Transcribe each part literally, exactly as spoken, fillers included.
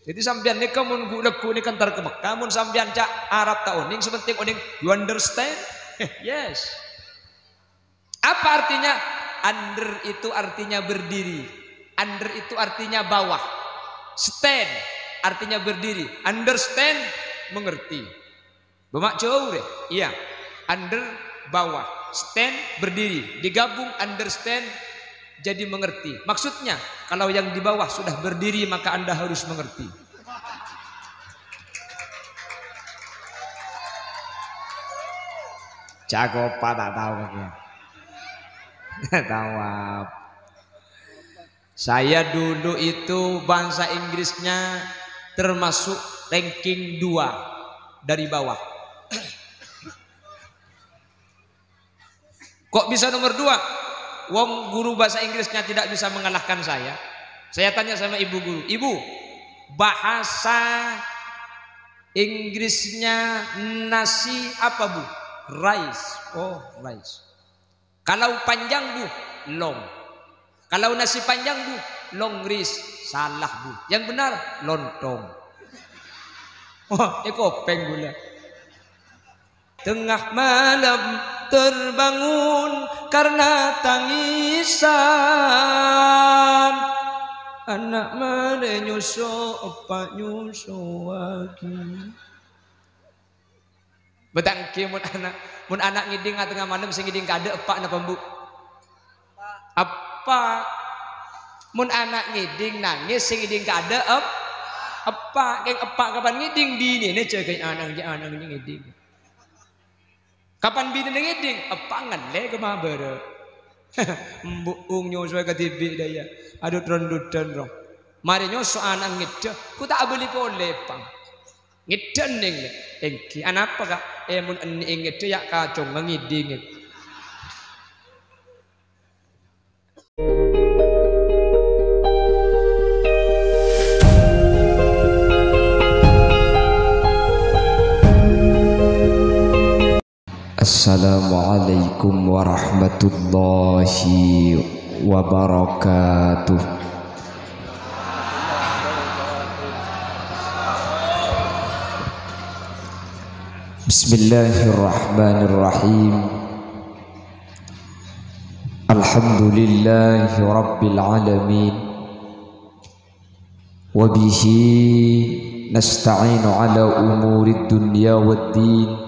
Jadi sampèyan nèka mon ghu-, lagghu' nèka entar ka Mekkah, mon sampèyan ca' Arab ta' onèng, sè pentèng onèng, you understand? Yes. Apa artinya? Under itu artinya berdiri. Under itu artinya bawah. Stand artinya berdiri. Understand, mengerti. Bâ' ma' jhâu rè. Iya. Under, bawah. Stand, berdiri. Digabung understand jadi mengerti. Maksudnya, kalau yang di bawah sudah berdiri, maka Anda harus mengerti. Cakep, Pak, tak tahu lagi. Tahu apa? Saya dulu itu bahasa Inggrisnya termasuk ranking dua dari bawah. Kok bisa nomor dua? Wong guru bahasa Inggrisnya tidak bisa mengalahkan saya. Saya tanya sama ibu guru, "Ibu, bahasa Inggrisnya nasi apa, Bu?" "Rice." "Oh, rice." Kalau panjang, Bu, long. Kalau nasi panjang, Bu, long rice. Salah, Bu. Yang benar, lontong. Wah, è kopèng ghulâ. Tengah malam terbangun karena tangisan. Ana' marè nyoso, eppa' nyosowaghi. Bâtangkè mon ana', mon ana' ngèdhing atengnga malem, sè ngèdhing kaadâ' eppa' napa embu'? Eppa'. Mon ana' ngèdhing nangès, sè ngèdhing kaadâ' ep-, eppa'. Kèng eppa' kapan ngèdhing? Binèna jâgâi ana', ana' ngèdhing. Kapan binèna ngèdhing? Eppa' ngallè ka mabârâ'. Embu'ung nyosowè kadhibi' dâ' iyâ. Adhu, tron-dudhân, rong. Marè nyoso ana' ngèdhâ, ghu ta' abâli polè, Pang. Ngèdhâ ennèng, èngghi. Anapa, Ka'? Eh, mon ennèng ngèdhâ, yâ' kacongnga ngèdhing. Assalamualaikum warahmatullahi wabarakatuh. Bismillahirrahmanirrahim. Alhamdulillahi rabbil alamin. Wa bihi nasta'inu ala umurid dunya wad din.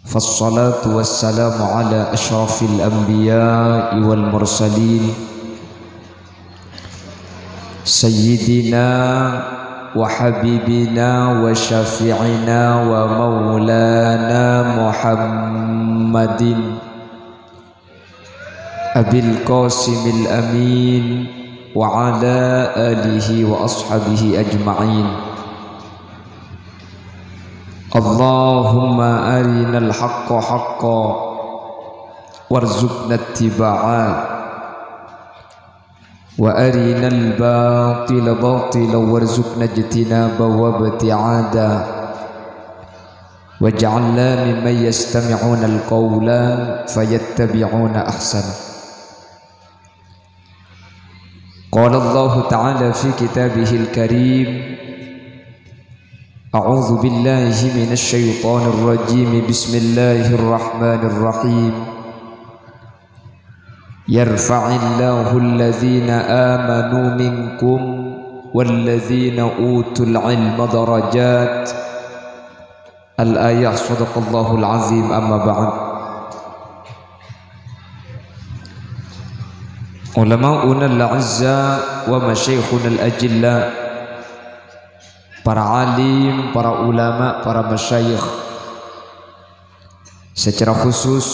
Fassalatu wassalamu ala asyrafil anbiya'i wal mursalin, sayyidina wa habibina wa syafi'ina wa maulana Muhammadin Abil Qasimil Amin wa ala alihi wa ashabihi ajma'in. Allahumma arinal haqqa haqqa warzuqna ittiba'a, wa arinal batila batila warzuqna ijtinaba wa ibti'ada. Waj'alna mimman yastami'unal qawla fayattabi'una ahsana. Qala Allahu ta'ala fi kitabihil karim, a'udzu billahi minasy syaithanir rajim. Bismillahirrahmanirrahim. Yarfa'illahu alladhina amanu minkum walladhina utul ilma darajat. Al-ayah, sadaqallahul azim, amma ba'd. Ulama'unal a'izza wa masyayikhunal ajilla, para alim, para ulama, para masyayikh, secara khusus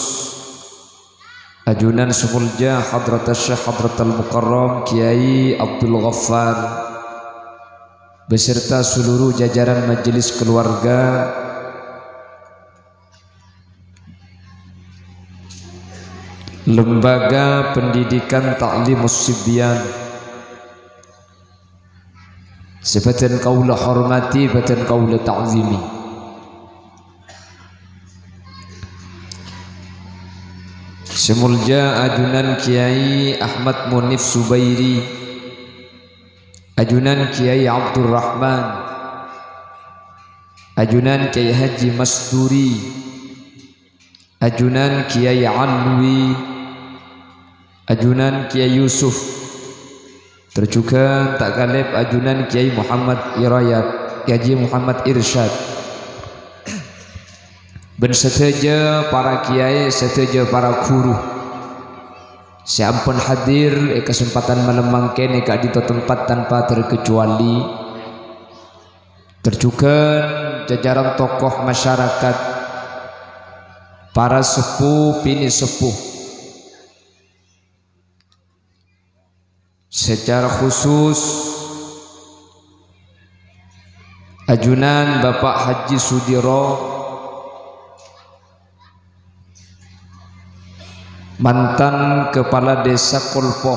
ajunan sè molja Hadratus Syekh Hadratal Mukarram Kiai Abdul Ghaffar beserta seluruh jajaran majelis keluarga Lembaga Pendidikan Ta'limus Sibyan. Sè bhâdhân kaulâ hormati, bhâdhân kaulâ ta'zimi. Sè molja ajunan Kiai Ahmad Munif Subairi, Ajunan Kiai Abdurrahman, ajunan Kiai Haji Masturi, ajunan Kiai Alwi, ajunan Kiai Yusuf, tor jhughân ta' kalèp ajunan Kiai Muhammad Irayat, Kiai Haji Muhammad Irsyad, bân sadhâjâ para kiai, sadhâjâ para ghuru sè ampon hadir è kasempadhân malem mangkèn è ka'dinto tempat tanpa terkecuali, tor jhughân jajaran tokoh masyarakat, para seppo binè' seppo. Secara khusus, ajunan Bapak Haji Sudiro, mantan Kepala Desa Kolpo,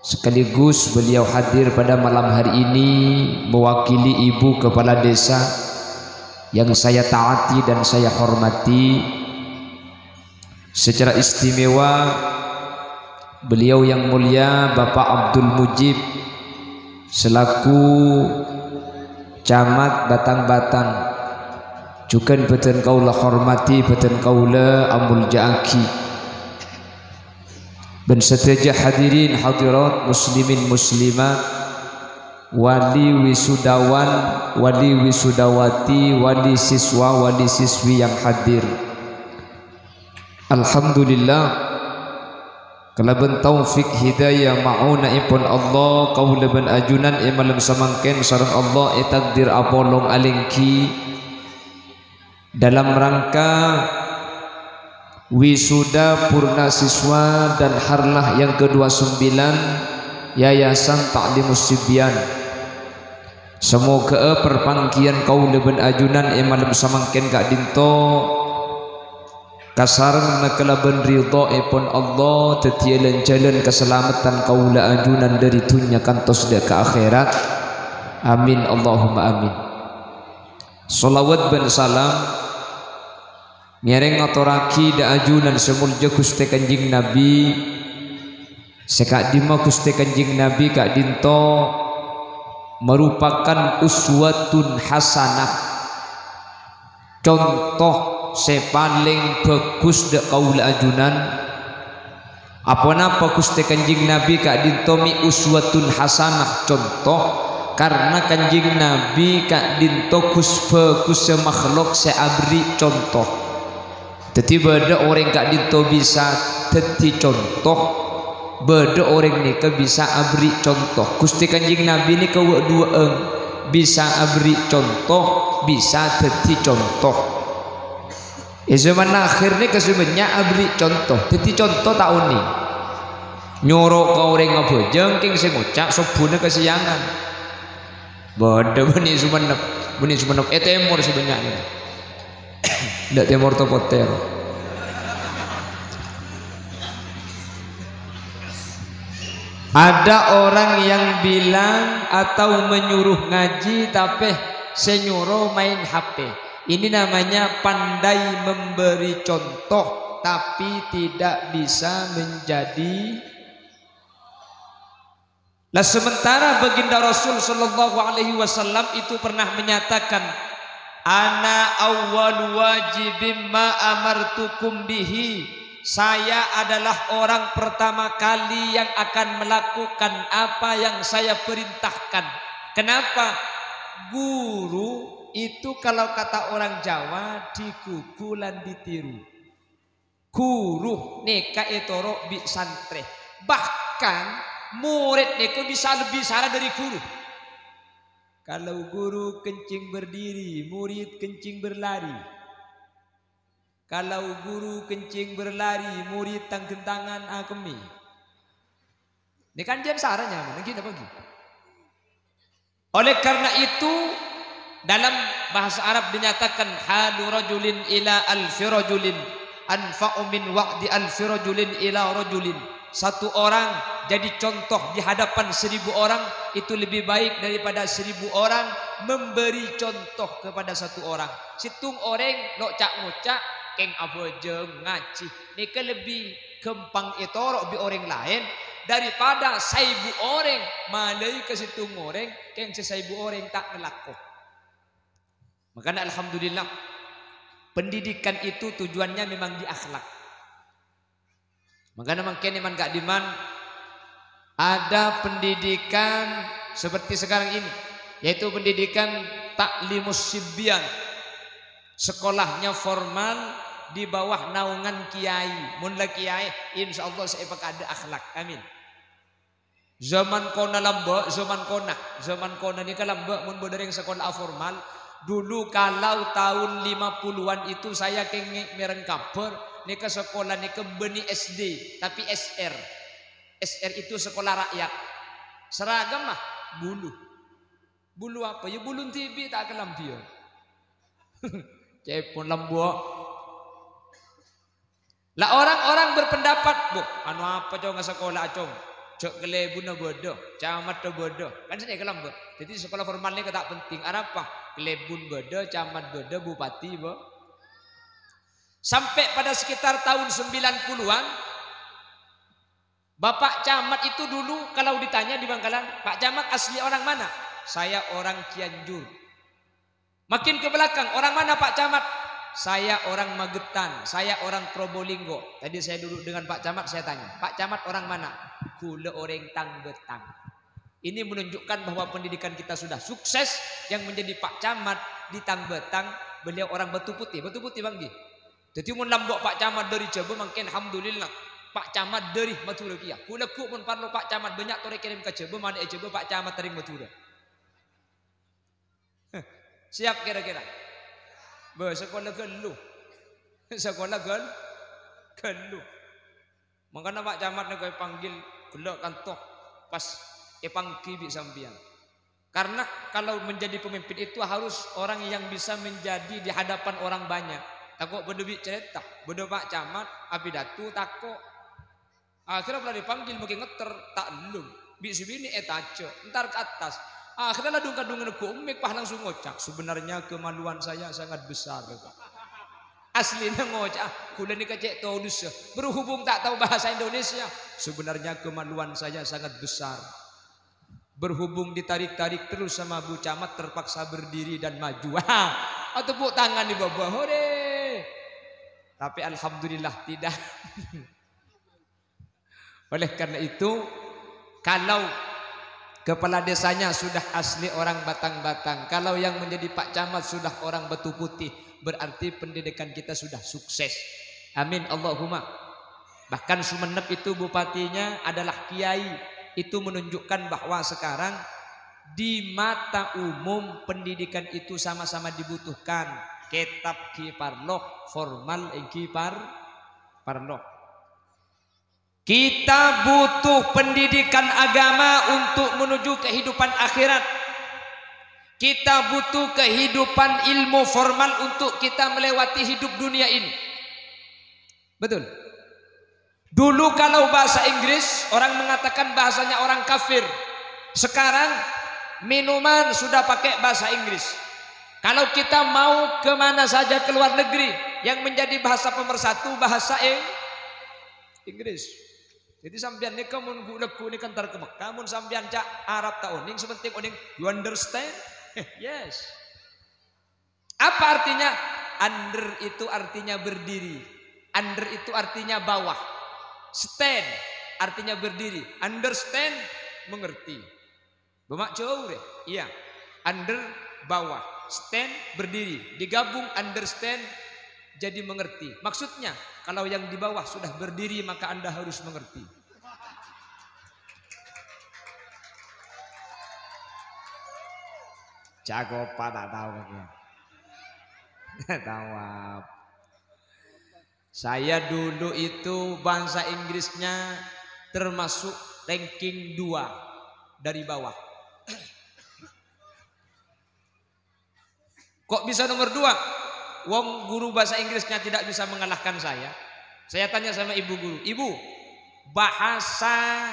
sekaligus beliau hadir pada malam hari ini mewakili Ibu Kepala Desa yang saya taati dan saya hormati. Secara istimewa, beliau yang mulia Bapak Abdul Mujib selaku Camat Batang-Batang, jhughân bâdhân kaulâ hormati, bâdhân kaulâ amoljâ'aghi. Bân sadhâjâ hadirin hadirat, muslimin muslimat, wali wisudawan, wali wisudawati, wali siswa, wali siswi yang hadir. Alhamdulillah, kalabân taufik hidayah ma'unahèpon Allah, kaulâ bân ajunan è malem samangkèn sareng Allah ètakdir apolong alèngghi dalam rangka wisuda purna siswa dan harlah yang kedua sembilan Yayasan Ta'limus Sibyan. Samoghâ'â parpangghiyân kaulâ bân ajunan è malem samangkèn ka'dinto kasarengngana kalabân ridhâèpon Allah dhâddhiyâ lan-jhâlân kasalameddhân kaulâ ajunan dhâri dhunnya kantos dâ' ka akhèrat. Amin, Allahumma amin. Shalawat bân salam ngèrèng ngatorraghi dâ' ajunan sè moljâ Ghustè Kanjeng Nabi, sè ka'dimma Ghustè Kanjeng Nabi ka'dinto marupakan uswatun hasanah, conto sè palèng bhâghus dâ' kaulâ ajunan. Aponapa Ghustè Kanjeng Nabi ka'dinto mè' uswatun hasanah, conto? Karna Kanjeng Nabi ka'dinto ghus-bhâghussâ makhlok sè aberri' conto. Dhâddhi, bâdâ orèng ka'dinto bisa dhâddhi conto, bâdâ orèng nèka bisa aberri' conto. Ghustè Kanjeng Nabi nèka wâ'-duwâ'ân, bisa aberri' conto, bisa dhâddhi conto. È zaman akhir nèka sè bânnya' aberri' conto, dhâddhi conto ta' onèng. Nyoro ka orèng abhâjâng, kèng sè ngoca' sobbhuna kasèyangan. Bâdâ bânnè Sumenep, bânnè Sumenep, è tèmor sè bânnya' nèka. Dâ' tèmor to potèr. Ada orang yang bilang atau menyuruh ngaji, tapè sè nyoro maèn H P. Ini namanya pandai memberi contoh, tapi tidak bisa menjadi. Lah, sementara Baginda Rasul sallallahu alaihi wasallam itu pernah menyatakan, "Ana awwalu wajibin ma amartukum bihi." Saya adalah orang pertama kali yang akan melakukan apa yang saya perintahkan. Kenapa? Guru itu, kalau kata orang Jawa, digugu lan ditiru. Guru nèka ètoro' bi' santrè. Bahkan, morèd nèka bisa lebbi sala dâri guru. Kalau guru kencing berdiri, murid kencing berlari. Kalau guru kencing berlari, murid tang-ghentangan akemmè. Nèka kan jhân sara nyamana, ghi napa ghi? Oleh karena itu, dalam bahasa Arab dinyatakan, "Halu rajulin ila alfi rajulin anfa'u min wa'di alfi rajulin ila rajulin." Satu orang jadi contoh di hadapan seribu orang itu lebih baik daripada seribu orang memberi contoh kepada satu orang. Sèttong orèng lo' ca'-ngoca', kèng abhâjâng, ngajhi, nèka lebbi ghâmpang ètoro' bi' orèng laèn Daripada saèbu orèng malaè ka sèttong orèng, kèng sè saèbu orèng ta' ngalako. Makana alhamdulillah, pendidikan itu tujuannya memang di akhlak. Makana mangkèn è man ka'dimman ada pendidikan seperti sekarang ini, yaitu pendidikan ta'limus sibyan. Sekolahnya formal di bawah naungan kiai. Mon la kiai, insyaallah sè èpakadâ' akhlak. Amin. Zaman kona lambâ', zaman kona. Zaman kona nèka lambâ' mon bâdâ rèng sakola formal. Dulu kalau tahun lima puluhan itu saya kèngèng mèreng kabhâr, nèka sakola nèka bânnè S D, tapi S R. S R itu sekolah rakyat. Seragam mah bulu. Bulu apa? Ya bulun dhibi' ta' kalambhiyân. Cèpon lambâ'. Lah orang-orang berpendapat, "Bu, anu apa, Cong, sakola, Cong? Jhâ' kalèbunna bâdâ, camatdhâ bâdâ." Kan sènè' kalambâ'. Jadi sekolah formal nèka ta' penting. Arapa? Kalèbun bâdâ, camat bâdâ, bupati bâ-, Sampai pada sekitar tahun sembilan puluhan, Bapak Camat itu dulu kalau ditanya di Bangkalan, "Pak Camat asli orang mana?" "Saya orang Cianjur." Makin ke belakang, "Orang mana, Pak Camat?" "Saya orang Magetan, saya orang Probolinggo." Tadi saya duduk dengan Pak Camat, saya tanya, "Pak Camat orang mana?" "Kaulâ orèng Tang Bâtang." Ini menunjukkan bahwa pendidikan kita sudah sukses. Yang menjadi Pak Camat di Tang Bâtang, beliau orang Batu Putih. Batu Putih, Bang, ngghi. Dhâddhi, mon lambâ' Pak Camat dâri Jhâbâ, mangkèn alhamdulillah. Pak Camat dâri Madhurâ kèya. Ghu-lagghu' mon parlo Pak Camat bânnya' torè kèrèm ka Jhâbâ, malè'è Jhâbâ, Pak Camat rèng Madhurâ. Siap kira-kira? Bâh, sakola ghâllu. Sakola ghâl-, ghâllu. Mangkana Pak Camat nèko èpanggil ghellâ' kanto pas èpangghi bi' sampèyan. Karena kalau menjadi pemimpin itu harus orang yang bisa menjadi di hadapan orang banyak. Tako' bâdâ bi' carèta, bâdâ Pak Camat, apidato tako'. Akhirnya pala dipanggil makin ngetter, ta' ellum. Bi' sè binè' ètajâ', entar ka attas. Akhirnya la dung-kadungan neggu' mik, pas langsung ngoca', "Sebenarnya kemaluan saya sangat besar, Pak." Aslinya ngoca', "Kaulâ nèka cè' todusâ. Berhubung tak tahu bahasa Indonesia, sebenarnya kemaluan saya sangat besar." Berhubung ditarik-tarik terus sama Bu Camat, terpaksa berdiri dan maju. Wah, tepuk tangan di bawah. Hore. Tapi alhamdulillah tidak. Oleh karena itu, kalau kepala desanya sudah asli orang Batang-Batang, kalau yang menjadi Pak Camat sudah orang Batu Putih, berarti pendidikan kita sudah sukses. Amin, Allahumma. Bahkan Sumenep itu bupatinya adalah kiai. Itu menunjukkan bahwa sekarang di mata umum pendidikan itu sama-sama dibutuhkan. Kètab ghi parlo, formal èngghi par-, parlo. Kita butuh pendidikan agama untuk menuju kehidupan akhirat. Kita butuh kehidupan ilmu formal untuk kita melewati hidup dunia ini. Betul. Dulu kalau bahasa Inggris, orang mengatakan bahasanya orang kafir. Sekarang minuman sudah pakai bahasa Inggris. Kalau kita mau ke mana saja ke luar negeri, yang menjadi bahasa pemersatu bahasa Ing-, Inggris. Jadi sampèyan nèka mon ghu-, lagghu' nèka entar ka Mekkah, mon sampèyan ca' Arab ta' onèng, sè pentèng onèng, "You understand?" Yes. Apa artinya? Under itu artinya berdiri. Under itu artinya bawah. Stand artinya berdiri. Understand, mengerti. Bâ' ma' jhâu rè? Iya. Under, bawah. Stand, berdiri. Digabung understand jadi mengerti. Maksudnya, kalau yang di bawah sudah berdiri, maka Anda harus mengerti. Cakopa ta' tao, Pak, ya? Tao apa? Saya dulu itu bahasa Inggrisnya termasuk ranking dua dari bawah. Kok bisa nomor dua? Wong guru bahasa Inggrisnya tidak bisa mengalahkan saya. Saya tanya sama ibu guru, "Ibu, bahasa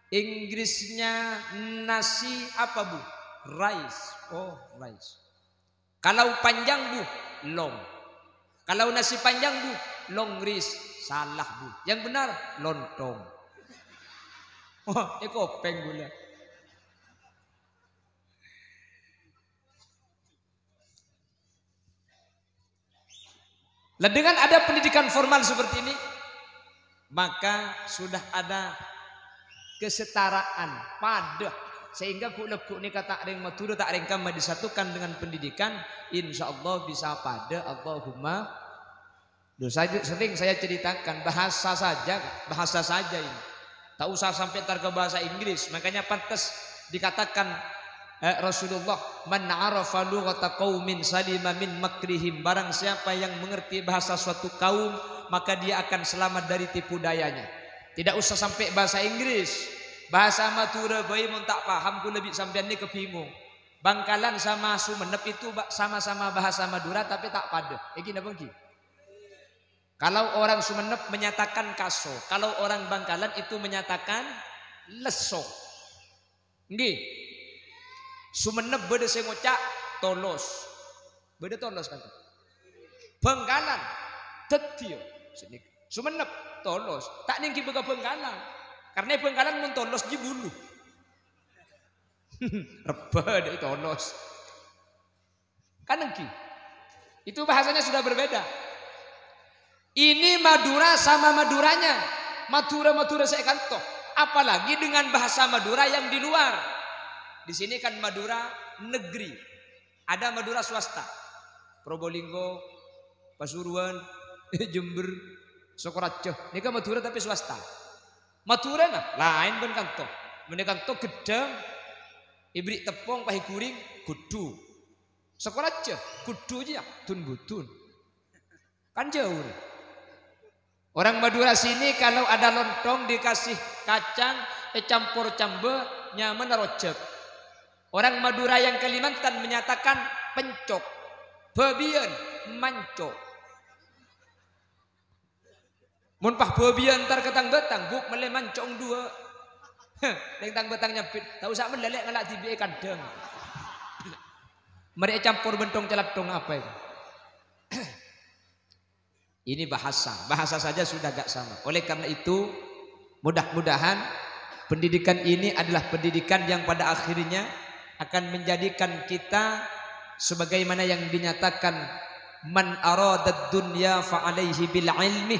Inggrisnya nasi apa, Bu?" "Rice." "Oh, rice." "Kalau panjang, Bu?" "Long." "Kalau nasi panjang, Bu?" "Long rice." "Salah, Bu. Yang benar, lontong." Oh, è kopèng ghulâ. Lah, dengan ada pendidikan formal seperti ini, maka sudah ada kesetaraan, padâ. Sehingga ghu'-, lagghu' nèka ta' rèng Madhurâ, ta' rèng kamma disatukan dengan pendidikan, insyaallah bisa padâ. Allahumma. Loh, saya, sering saya ceritakan, bahasa saja, bahasa saja ini. Tak usah sampai ntar ke bahasa Inggris. Makanya pantas dikatakan, eh, Rasulullah, "Man arafa lughata qaumin salima min makrihim." Barang siapa yang mengerti bahasa suatu kaum, maka dia akan selamat dari tipu dayanya. Tidak usah sampai bahasa Inggris. Bahasa Madhurâ bhâi mon ta' paham, ghulâ bi' sampèyan nèka bingung. Bangkalan sama Sumenep itu ba-, sama-sama bahasa Madura, tapi ta' padâ. Èngghi napa èngghi? Kalau orang Sumenep menyatakan kaso, kalau orang Bangkalan itu menyatakan lesso. Èngghi. Sumenep bâdâ sè ngoca' tolos. Bâdâ tolos kan? Bangkalan. Dhâddhi, ya. Sini. Sumenep tolos. Ta' nèngghi bâ ka Bangkalan. Karena Bangkalan mon tolos jiyâ bulu. Rebbhâ dâ' tolos. Kan èngghi. Itu bahasanya sudah berbeda. Ini Madura sama Maduranya. Madura-Madura sè è kanto. Apalagi dengan bahasa Madura yang di luar. Di sini kan Madura negeri. Ada Madura swasta. Probolinggo, Pasuruan, Jember, Sokoraja. Nèka Madura tapi swasta. Madura, nah, laèn bân kanto. Mon è kanto ghedhâng, èberri' teppong, pas èghuring, ghuddhu. Sakoraja, ghuddhu jiyâ, dun-budun. Kan jauh. Orang Madura sini kalau ada lontong dikasih kacang, ècampor cambâ, nyamana rojhâk. Orang Madura yang Kalimantan menyatakan pencok. Bhâbiyân, manco. Mon pas bhâbiyân entar ka tang-bâtang, Bu', mellè manco' duwâ'. Heh, neng tang-bâtang nyambit, "Ta' osa mellè, Lè', ngala' dhibi'è kandhâng." Marè ècampor bân thong-calatthong apa itu? Ini bahasa, bahasa saja sudah agak sama. Oleh karena itu, mudah-mudahan pendidikan ini adalah pendidikan yang pada akhirnya akan menjadikan kita sebagaimana yang dinyatakan, "Man aradad dunya fa alaihi bil ilmi,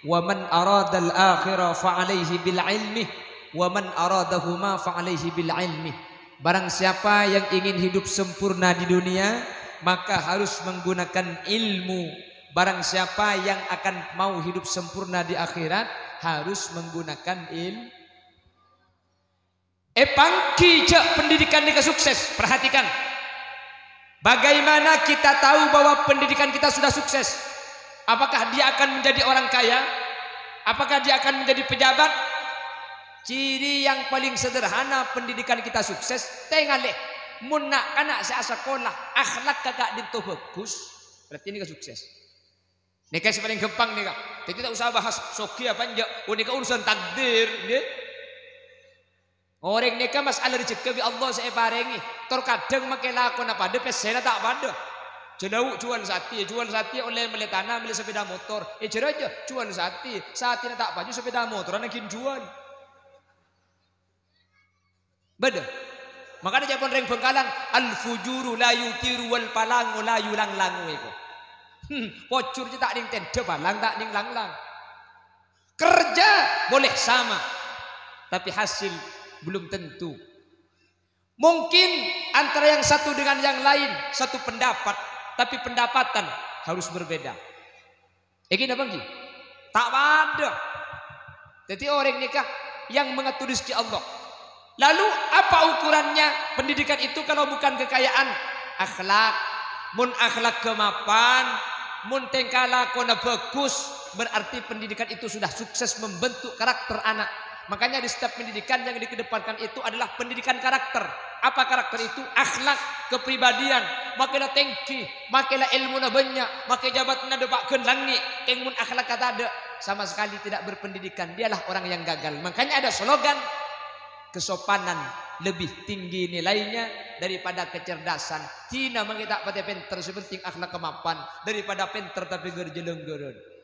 wa man aradal akhirah fa alaihi bil ilmi, wa man aradahuma fa alaihi bil ilmi." Barang siapa yang ingin hidup sempurna di dunia, maka harus menggunakan ilmu. Barang siapa yang akan mau hidup sempurna di akhirat, harus menggunakan il-, Èpangghi jhâ' pendidikan nèka sukses. Perhatikan. Bagaimana kita tahu bahwa pendidikan kita sudah sukses? Apakah dia akan menjadi orang kaya? Apakah dia akan menjadi pejabat? Ciri yang paling sederhana pendidikan kita sukses, tengalè. Mon na'-kana' sè asakola, akhlakka ka'dinto bhâghus, berarti nèka sukses. Nèka sè palèng ghâmpang nèka. Dhâddhi ta' osa bahas soghi apa enjâ'. Oh, nèka urusan takdir, ngghi. Orèng nèka mas'ala rejhekkè bi' Allah sè èparèngè. Tor kadhâng makè lakona padâ, pèssèna ta' padâ. Jhâ' jhuwâl satè, jhuwâl satè ollè mellè tana, mellè sepeda motor. È jârèya jhuwâl satè, satèna ta' paju, sepeda motoran ghi' jhuwâl. Bâdâ. Makana ca'èpon rèng Bangkalan, "Al-fujuru la yutiru wal palangu la yulanglangu" èko. Hmm, pojhur jiyâ ta' nèng tèndhâ, palang ta' nèng langlang. Kerja boleh sama, tapi hasil belum tentu. Mungkin antara yang satu dengan yang lain satu pendapat, tapi pendapatan harus berbeda. Èngghi napa èngghi? Ta' padâ. Dhâddhi orèng nèka yang mengatur rezeki Allah. Lalu apa ukurannya pendidikan itu kalau bukan kekayaan? Akhlak. Mon akhlak ghâmapan, mon tèngka lakona bhâghus, berarti pendidikan itu sudah sukses membentuk karakter anak. Makanya di setiap pendidikan yang dikedepankan itu adalah pendidikan karakter. Apa karakter itu? Akhlak, kepribadian. Makè la tèngghi, makè la èlmona bânnya', makè jabatan dâpa' ghân langngè', kèng mon akhlakka tadâ', sama sekali tidak berpendidikan. Dialah orang yang gagal. Makanya ada slogan, "Kesopanan lebih tinggi nilainya daripada kecerdasan." Dhina makè ta' patè pènter, sè penting akhlakka mapan, daripada pènter tapè ghâr-jhâlânggârân.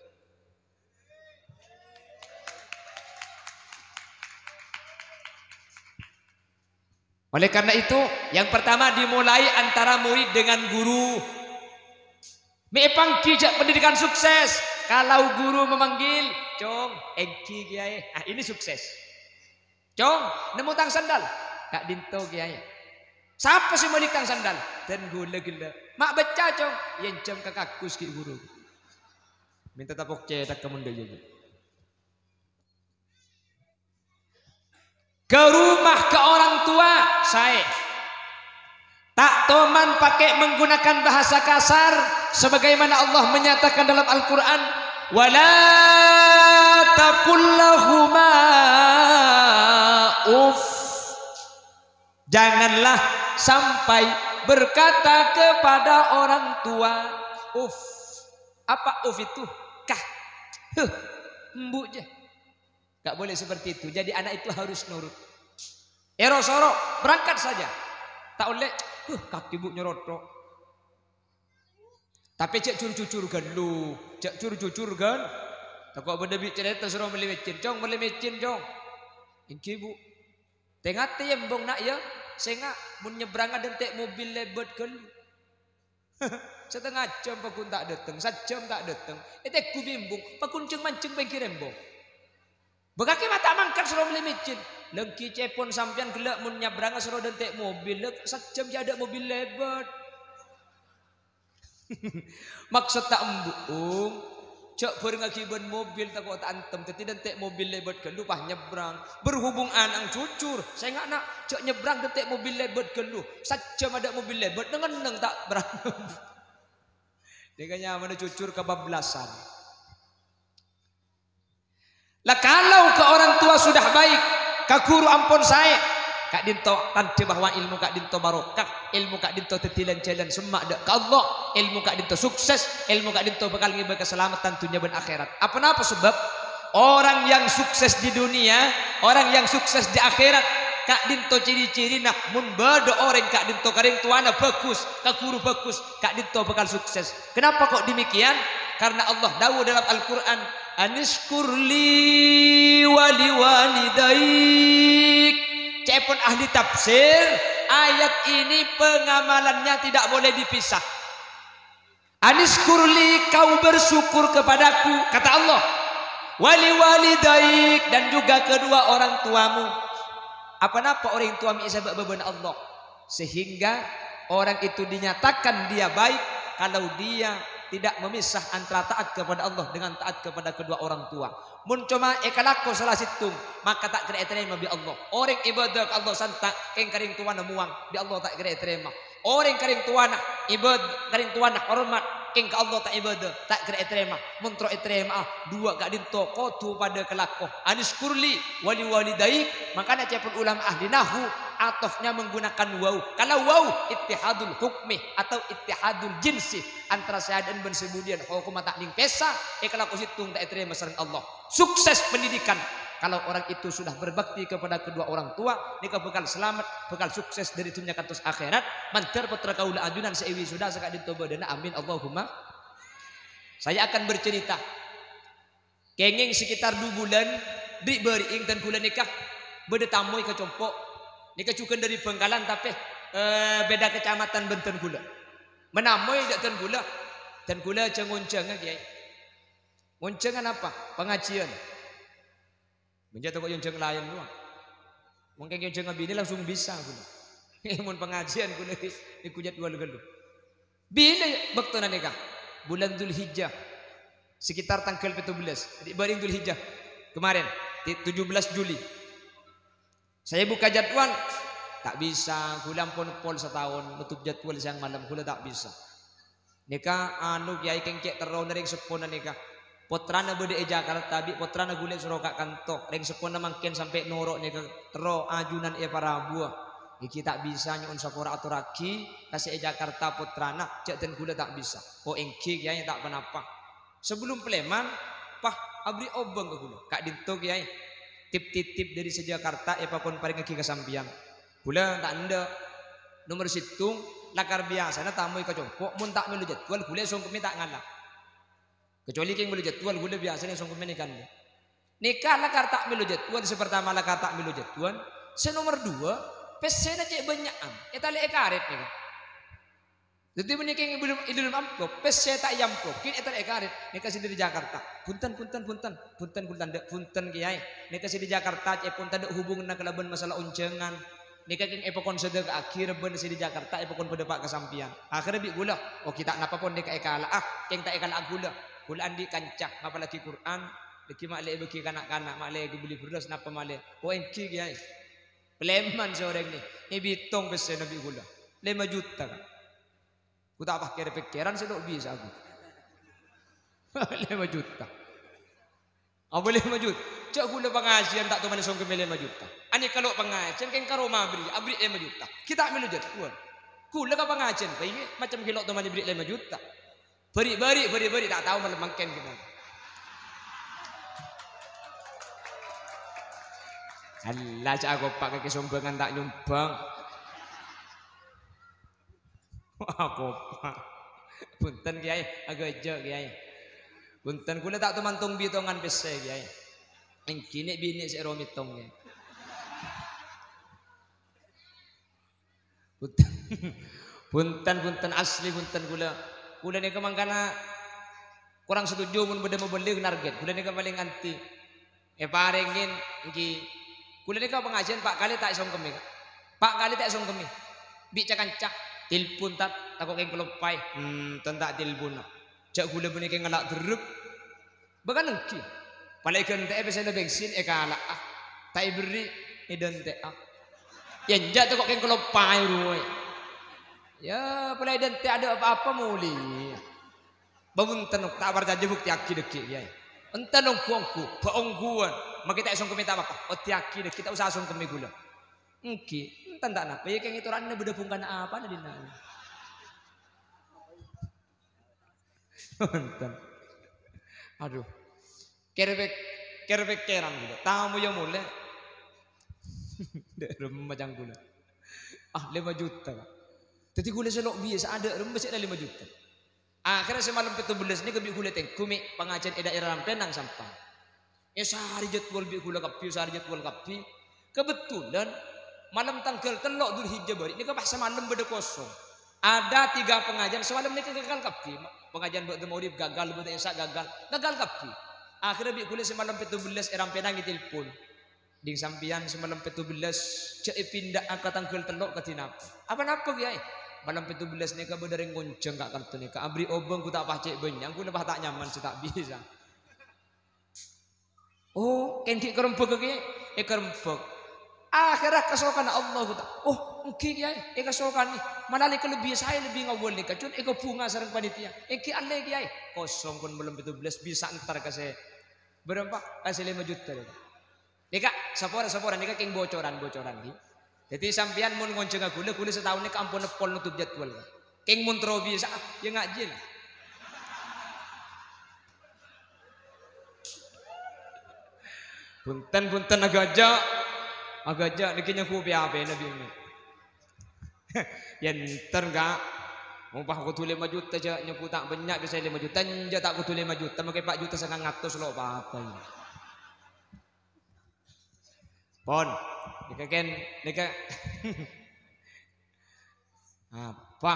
Oleh karena itu, yang pertama dimulai antara murid dengan guru. Me' èpangghi jhâ' pendidikan sukses. Kalau guru memanggil, "Cong, ènggi, Kèyaè." Ah, ini sukses. "Cong, nemmo tang sandal?" "Ka'dinto, Kèyaè." "Sapa sè mèlè tang sandal?" "Dân ghulâ ghellâ'." "Ma' bâcca, Cong?" "Ènjhâm ka kagus ghi' guru." Mènta tapok cèthak ka mondhâ, iyâ, iyâ. Ke rumah, ke orang tua, saè. Ta' toman pakai menggunakan bahasa kasar, sebagaimana Allah menyatakan dalam Al-Quran, "Wala taqul lahuma uff." Janganlah sampai berkata kepada orang tua, "Uff." Apa uff itu? Kah. Huh. Embu' jâ. Nggak boleh seperti itu. Jadi anak itu harus nurut. Èro-soro, berangkat saja. Ta' ollè, "Huh, kakè Bu nyoroto." Tapè jhâ' jur-jujur ghâllu. Jhâ' jur-jujur ghâl-, tako' bâdâ bi' carèta soro mellè mèccèn. "Cong, mellè mèccèn, Cong." "Ènggi, Bu." "Tè-ngatè, yâ, embong, Na', yâ. Sènga' mon nyabbrângnga dântè' mobil lèbât ghâllu." Satengnga jhâm pagghun ta' dâteng, sajjhâm ta' dâteng. Ètegghu bi' embong, pagghun jhâng-manjhâng pèngghir embong. Bâ kakè ma' ta' mangkat soro mellè mèccèn. Lengghi cèpon sampèyan ghellâ' mon nyabbrângnga soro dântè' mobil, la sajjhâm jhâ' adâ' mobil lèbât. Maksod ta' embu', Ong. Jhâ' bhârengngaghi bân mobil tako' ta' antem, dâddhi dântè' mobil lèbât ghâllu pas nyabbrâng. Berhubung ana'na jujur, sènga' Na', jhâ' nyabbrâng dântè' mobil lèbât ghâllu. Sajjhâm adâ' mobil lèbât, neng-enneng ta' berang. Nèka nyamana jujur kabablasan. Lah, kalau ke orang tua sudah baik, ka ghuru ampon saè, ka'dinto tandhâ bahwa èlmo ka'dinto barokah, èlmo ka'dinto dâddhi lan-jhâlân semma' dâ' ka Allah, èlmo ka'dinto sukses, èlmo ka'dinto bhâkal ngèbâ kasalameddhân dhunnya bân akhèrat. Apa napa sebab? Orang yang sukses di dunia, orang yang sukses di akhirat, ka'dinto ciri-cirina, mon bâdâ orèng ka'dinto ka rèng towana bhâghus, ka ghuru bhâghus, ka'dinto bhâkal sukses. Kenapa kok demikian? Karena Allah dawuh dalam Al-Quran, "Anishkur li wa liwalidaik." Ca'èpon ahli tafsir, ayat ini pengamalannya tidak boleh dipisah. "Anishkur li," kau bersyukur kepadaku, kata Allah. "Wa liwalidaik," dan juga kedua orang tuamu. Apa napa orèng towa mè' èsabâ' bâbâna Allah? Sehingga orang itu dinyatakan dia baik kalau dia tidak memisah antara taat kepada Allah dengan taat kepada kedua orang tua. Mon coma èkalako sala sèttong, maka ta' kèra ètarèma bi' Allah. Orèng ibadah ka Allah santa', kèng ka rèng towana mowang, bi' Allah ta' kèra ètarèma. Orèng ka rèng towana ibad-, ka rèng towana hormat, kèng ka Allah ta' ibadah, ta' kèra ètarèma. Mon terro ètarèma'a, duwâ' ka'dinto kodhu padâ kalako. "Anishkur li wa liwalidaik." Mangkana ca'èpon ulama ahli nahwu, atofnya menggunakan waw. Kalau waw, ittihadul hukmi atau ittihadul jinsi. Antara sè adâ'ân bân sè budiyân, hokomma ta' nèng pèsa, èkalako sèttong ta' ètarèma sareng Allah. Sukses pendidikan. Kalau orang itu sudah berbakti kepada kedua orang tua, nèka bhâkal salamet, bhâkal sukses dâri dhunnya kantos akhèrat. Mandhâr pottra kaulâ ajunan sè èwisuda saka'dinto bâdâna, amin, Allahumma. Saya akan bercerita. Kèngèng sekitar du bulân, ri'-bâri'eng dân ghulâ nèka bâdâ tamoy ka compo'. Nèka jhughân dâri Bhângkalan, tapè, eh, beda kecamatan bân dân ghulâ. Manamoy dâ' dân ghulâ, dân ghulâ jhâ-ngonjhângnga, Kèyaè. Ngonjhângnga napa? Pangajiân. Mon jhâ' tako' èonjhâng laèn rowa. Mangkèn èonjhâng abinè langsung bisa ghulâ. Mon pangajiân ghulâ nèko jadwal ghâllu. Bilâ bâktona nèka? Bulân Dzulhijjah. Sekitar tangghâl pètto bellâs. Jadi, bâreng Dzulhijjah. Kemarin, ti-, tujuh belas Juli. Saya buka jadwal, ta' bisa, ghulâ ampon pol sataon, notop jadwal sèyang malem, ghulâ ta' bisa. Nèka, anu, Kèyaè kèng cè' terrona rèng seppona nèka. Pottrana bâdâ è Jakarta, bi' pottrana ghulâ èsoro ka kanto. Rèng seppona mangkèn sampè' noro' nèka, terro ajunan èparabuwâ. Ènggi ta' bisa, nyo'on sapora atorraghi ka sè è Jakarta pottrana, jhâ' dân ghulâ ta' bisa. Oh, ènggi, Kèyaè, ta' ponapa. Sabellun palèman, pas aberri' obâng ka ghulâ. Ka'dinto, Kèyaè, tip-titip dâri sè Jakarta èpakon parèngngaghi ka sampèyan. Ghulâ ta' endâ'. Nomer sèttong, lakar biyasana tamoy ka compo', mon ta' mèlo jadwal, ghulâ songkemmè ta' ngala'. Kecuali kèng mèlo jadwal, ghulâ biyasana songkemmè nèka endâ'. Nèka lakar ta' mèlo jadwal, sè partama lakar ta' mèlo jadwal, sè nomer duwâ', Pèssèna cè' bânnya'an, ètalè'è karèt nèka. Dhâddhi, bânnè kèng è dâlem, è dâlem amplop, pèssè ta' èamplop, kèng ètalè'è karèt. Nèka sè dâri Jakarta. "Bhunten, bhunten, bhunten. Bhunten, kaulâ tandhâ, bhunten, Kèyaè. Nèka sè dâri Jakarta cè'èpon tadâ' hubunganna kalabân masalah onjhângan. Nèka kèng èpakon sadhâka'aghi rebbhâna sè dâri Jakarta èpakon bâdâ pa' ka sampèyan." Akhirnya bi' kaulâ, "Oh, ghi' ta' napa pon nèka èkala'a, kèng ta' èkala'a kaulâ. Kaulâ andi' kanca ngapallaghi Qur'an, dhâggi' ma'lè èbâghi ka na'-kana', ma'lè èghâbâli bherrâs napa malè." "Oh, èngghi, Kèyaè." Palèman sè orèng nè, èbitong pèssèna bi' kaulâ. Lèma juta, Ka'. Ku ta' pakèr-pèkkèran sè lo' bisa aku. Lèma juta. Apa lèma juta? Jhâ' kaulâ pangajiân ta' tomanè songkemmè lèma juta. Anèka lo' pangajiân kèng ka roma aberri', aberri' lèma juta. Ghi' ta' mèlo jadwal. Kaulâ ka pangajiân, pèyè macem ghi' lo' tomanè aberri' lèma juta. Bâri'-bâri', bâri'-bâri', ta' tao malem mangkèn gimana. Allah, jhâ' akopa' kakè sombhângan ta' nyombhâng. Akopa'. Bhunten, Kèyaè, aghâjâ', Kèyaè. Bhunten, kaulâ ta' toman tong-bitongan pèssè, Kèyaè. Èngghi nè' binè' sè ro mètong, Kèyaè. Bhunten. Bhunten, bhunten, asli bhunten kaulâ. Kaulâ nèka mangkana korang setuju mon bâdâ mobâli narget. Kaulâ nèka palèng anti. Èparèngè, èngghi. Kaulâ nèka pangajiân pa' kalè ta' èsongkemmè, Ka'. Pa' kalè ta' èsongkemmè. Bi' ca-kanca. Telpon, Tat, tako' kèng kaloppaè. Hmm, ten ta' telponna. Jhâ' kaulâ bânnè kèng ngala' dherrep. Bâkal èngghi. Palèng èghântè'è pèssèna bensin, èkala'a. Ta' èberri', èdântè'a. Yâ, enjâ' tako' kèng kaloppaè rowa. Yâ, palèng èdântè' adâ' pa-apa molè. Bâ, bhunten, ta' parcajâ, buktèyaghi dhâggi', Kèyaè. Enten ongghu-ongghu, bâ' ongghuwân. Makè ta' èsongkemmè ta' pa-apa. Buktèyaghi dhâggi', ta' osa songkemmè kaulâ. Èngghi, enten ta' napa, yâ kèng ètora'na bâdâ bhungkana apana dinna'. Enten. Aduh. Kèr-pèk-, kèr-pèkkèran kaulâ. Tamoy molè. Dâ' remma ca'na kaulâ. Ah, lèma juta, Ka'. Dhâddhi kaulâ sè lo' bisa'a dâ' remma sè la lèma juta. Akhèrra sè malem pèttobellâs nèka bi' kaulâ tèngghu mè' pangajiân è daerah Rampènang Sampang. Èsarè jadwal bi' kaulâ kabbhi, èsarè jadwal kabbhi. Kebetulan malem tangghâl tello' Dzulhijjah bâri' nèka pas samalem bâdâ kosong. Ada tiga pengajian samalem nèka gagal kabbhi. Pengajian ba'da maghrib gagal, ba'da isya gagal, gagal kabbhi. Akhirnya bi' kaulâ sè malem pèttobellâs è Rampènang ètelpon. "Ding sampèyan sè malem pèttobellâs jhâ' èpinda'a ka tangghâl tello' kadhi napa?" "Apa napa, Kèyaè?" "Malem pèttobellâs nèka bâdâ rèng ngonjhâng ka kanto nèka. Aberri' obâng ghu ta' pas cè' bânnya', ghu napa ta' nyaman sè ta' bisa." Oh, kèng ghi' karembhâghâ, Kè? Èkarembhâk. Akhèrra kasokanna Allah, ghu ta-, "Oh, èngghi, Kèyaè, èkasokanè. Mala nèka lebbi saè, lebbi ngawwâl nèka, cun èkabhunga sareng panitia. Èngghi allè, Kèyaè." Kosong pon malem pèttobellâs, bisa entar ka sè bârâmpa? Ka sè lèma juta, nèka. Nèka, sapora, sapora, nèka kèng bocoran, bocoran, ghi. Dhâddhi sampèyan mon ngonjhânga kaulâ, kaulâ sataon nèka ampon neppol notop jadwal. Kèng mon terro bisa'a, yâ ngajhi la. Bhunten, bhunten, aghâjâ'. Aghâjâ', nèkè nyangghu pè-apèna binè. Yâ enter, Ka'. Mon pas kodhu lèma juta jhâ' nyangghu ta' bânnya' bisa lèma juta, enjâ' ta' kodhu lèma juta, makè pa' juta sangang atos lo' pa-apa, yâ. Pon. Nèka kèn, nèka. Apa?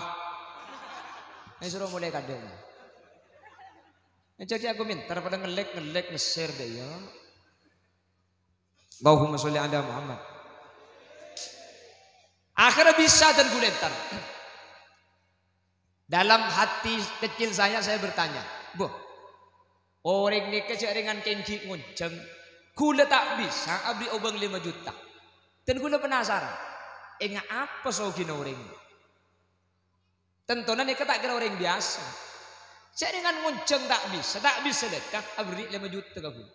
Ayo soro molaè kadhâng. Aja ki aku minta pada ngelek-ngelek ngeser deh ya. Allahumma sholli ala Muhammad. Akhirnya bisa dan gulentar. Dalam hati kecil saya, saya bertanya, "Boh, orèng nèka jhâ' rèngan kèng ghi' ngonjhâng, ghulâ ta' bisa aberri' obâng lèma juta." Dan ghulâ penasaran, enga' apa sogina orèng? Tantona nèka ta' kèra orèng biyasa. Jhâ' rèngan ngonjhâng ta' bisa, ta' bisa dâ' ka aberri' lèma juta ka ghulâ.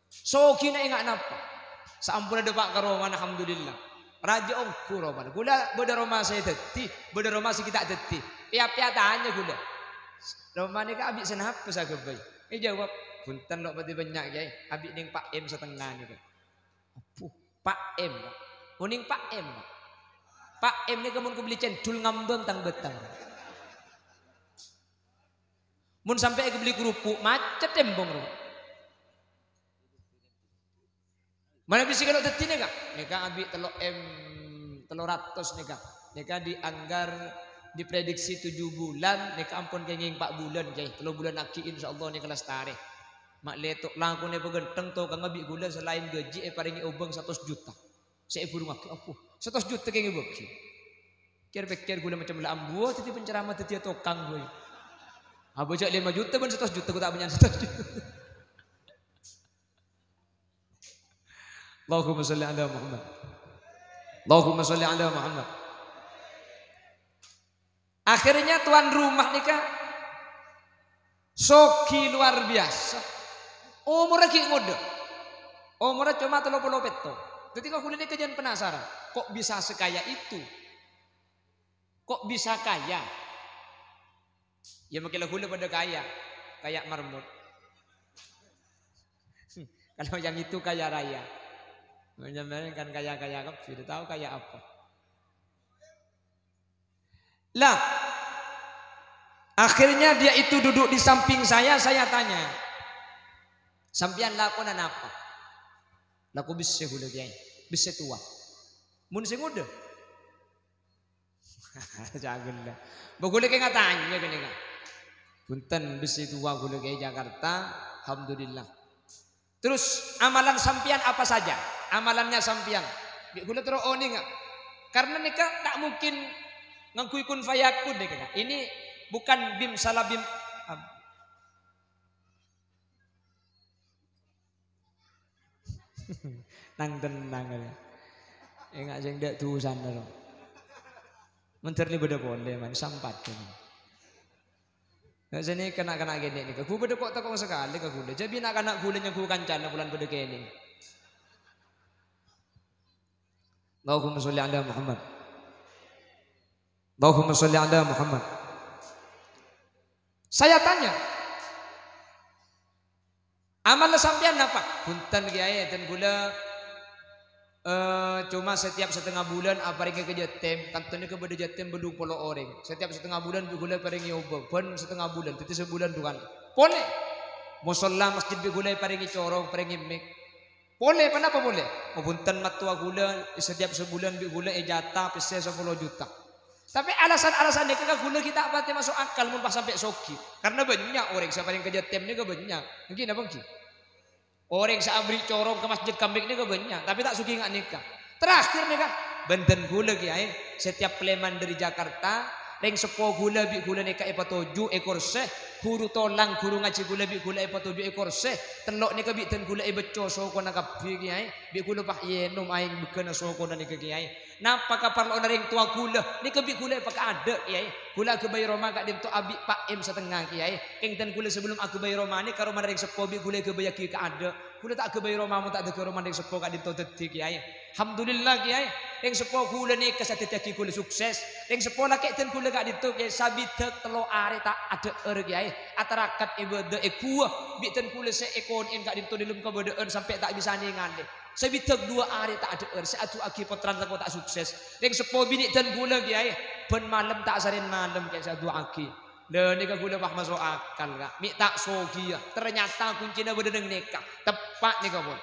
Sogina enga' napa? Saamponna dâpa' ka romana, alhamdulillah. Rajâ ongghu romana. Ghulâ bâdâ roma sè dhâddhi, bâdâ roma sè ghi' ta' dhâddhi. Pèya-pèya tanya ghulâ, "Roma nèka abi' sè napa sè aghâbây?" Èjâwâb, "Bhunten lo' patè bânnya', Kèyaè. Abi' nèng Pa' M satengnga nèka." Abbhu, Pa' M, Pak. Onèng Pa' M, Pak. Pa' M nèka mon kabelli cendhul ngambâng tang-bâtang. Mon sampè' èkabelli kerupuk, macet tembhâng, ro. Manabi sè kalo dhâddhi nèka? Nèka abi' tello' M Tello ratos nèka. Nèka dianggar diprediksi tujuh bulan, nèka ampon kèngèng empa' bulan, Kèyaè. Tello bulan aghi', insyaallah nèka lastarè. Ma' lè to' lakonè paghântheng, tokangnga bi' ghulâ salaèn ghâji èparèngè obâng satos juta. Sè èburungaghi, apa? Satos juta kèngèng èbâghi. Kèr-pèkkèr ghulâ macem la ambuwâ dhâddhi penceramah dhâddhiyâ tokang, boy. Abâ' jhâ' lèma juta bân satos juta, ghu ta' bânnya'an satos juta. Allahumma sholli ala Muhammad. Allahumma sholli ala Muhammad. Akhirnya tuan rumah nèka soghi luar biasa. Omorra ghi' ngodâ. Omorra coma tello polo pètto. Dhâddhi kaulâ nèka jhân penasaran, kok bisa sekaya itu? Kok bisa kaya? Ya, mungkin la ghulâ padâ kaya, kaya marmut. Kalau yang itu kaya raya. Sampeyan kan kaya-kaya kabbhi, tahu kaya apa? Lah, akhirnya dia itu duduk di samping saya, saya tanya, "Sampeyan lakona napa?" "Lako bessè ghulâ, Kèyaè. Bessè towa." "Mon sè ngodâ?" Cagella. Bâ ghulâ kèng atanya ghânèka. Bhunten, bessè towa ghulâ, Kèyaè, Jakarta. Alhamdulillah. Terus amalan sampèyan apa saja? Amalannya sampèyan. Bi' ghulâ terro onènga. Karena nèka ta' mungkin ngangghuy kun fayakun nèka. Ini bukan bim salah bim. Nang-tennang aja. Enga' sè ndâ' dusana, ro. Menteri bâdâ polè, man, sampat, man. Nah, sini kena-kena gini nih. Ghulâ bâdâ kok teko sakalè ka ghulâ. Jadi na'-kana' ghulâ nyangghu kancana bulan bâdâ kènè. Allahumma sholli ala Muhammad. Allahumma sholli ala Muhammad. Saya tanya, "Amal sampèyan napa?" "Bhunten, Kèyaè, dân ghulâ, eh, coma setiap setengah bulan aparèngè ka jâtèm. Kanto nèka bâdâ jâtèm bâllung polo orèng. Setiap setengah bulan bi' ghulâ parèngè obâng, bân setengah bulan, dhâddhi sabulân du kalè. Polè, mosolla masjid bi' ghulâ èparèngè corong, parèngè mik." Polè, ponapa polè? Oh, bhunten, mattowa ghulâ, setiap sabulân bi' ghulâ èjata pèssè sapolo juta. Tapè alasan-alasan nèka ka ghulâ ghi' ta' patè maso' akal mon pas sampè' soghi. Karena bânnya' orèng sè parèng ka jâtèm nèka bânnya'. Èngghi napa èngghi? Orèng sè aberri' corong ka masjid ka mik nèka bânnya', tapè ta' soghi nga' nèka. Terakhir nèka, bhunten ghulâ, Kèyaè, setiap palèman dâri Jakarta, rèng seppo ghulâ bi' ghulâ nèka èpatoju' è korsè, ghuru tolang, ghuru ngajhi ghulâ bi' ghulâ èpatoju' è korsè, tello' nèka bi' dân ghulâ èbâcco sokona kabbhi, Kèyaè. Bi' ghulâ pas ènom aèng bâghâna sokona nèka, Kèyaè. Napa kaparlowanna rèng towa ghulâ? Nèka bi' ghulâ èpakaadâ', Kèyaè. Ghulâ aghâbây roma ka'dinto abi' pa' M satengnga, Kèyaè. Kèng dân ghulâ sabellum aghâbây roma nèka romana rèng seppo bi' ghulâ èghâbâyyaghi kaadâ'. Ghulâ ta' aghâbây roma mon ta' dâgghâ' romana rèng seppo ka'dinto dhâddhi, Kèyaè. Alhamdulillah, Kèyaè. Rèng seppo ghulâ nèka sè dhâddhiyâghi ghulâ sukses. Rèng seppo lakè' dân ghulâ ka'dinto, Kèyaè, sabidhâk tello arè ta' adhâ'âr, Kèyaè. Atarakat ibâdâ è ghuwâ bi' dân ghulâ sè èkonè'è ka'dinto dâlem kabâdâ'ân sampè' ta' bisa nèngalè. Sabidhâk duwâ arè ta' adhâ'âr, sè adu'aaghi pottrana tako' ta' sukses. Rèng seppo binè' dân ghulâ, Kèyaè, bân malem ta' sarèn malem, Kèyaè, sè adu'aaghi. Lha, nèka ghulâ pas maso' akal, Ka'. Mè' ta' soghi, ya. Ternyata kuncina bâdâ neng nèka. Teppa' nèka, pon.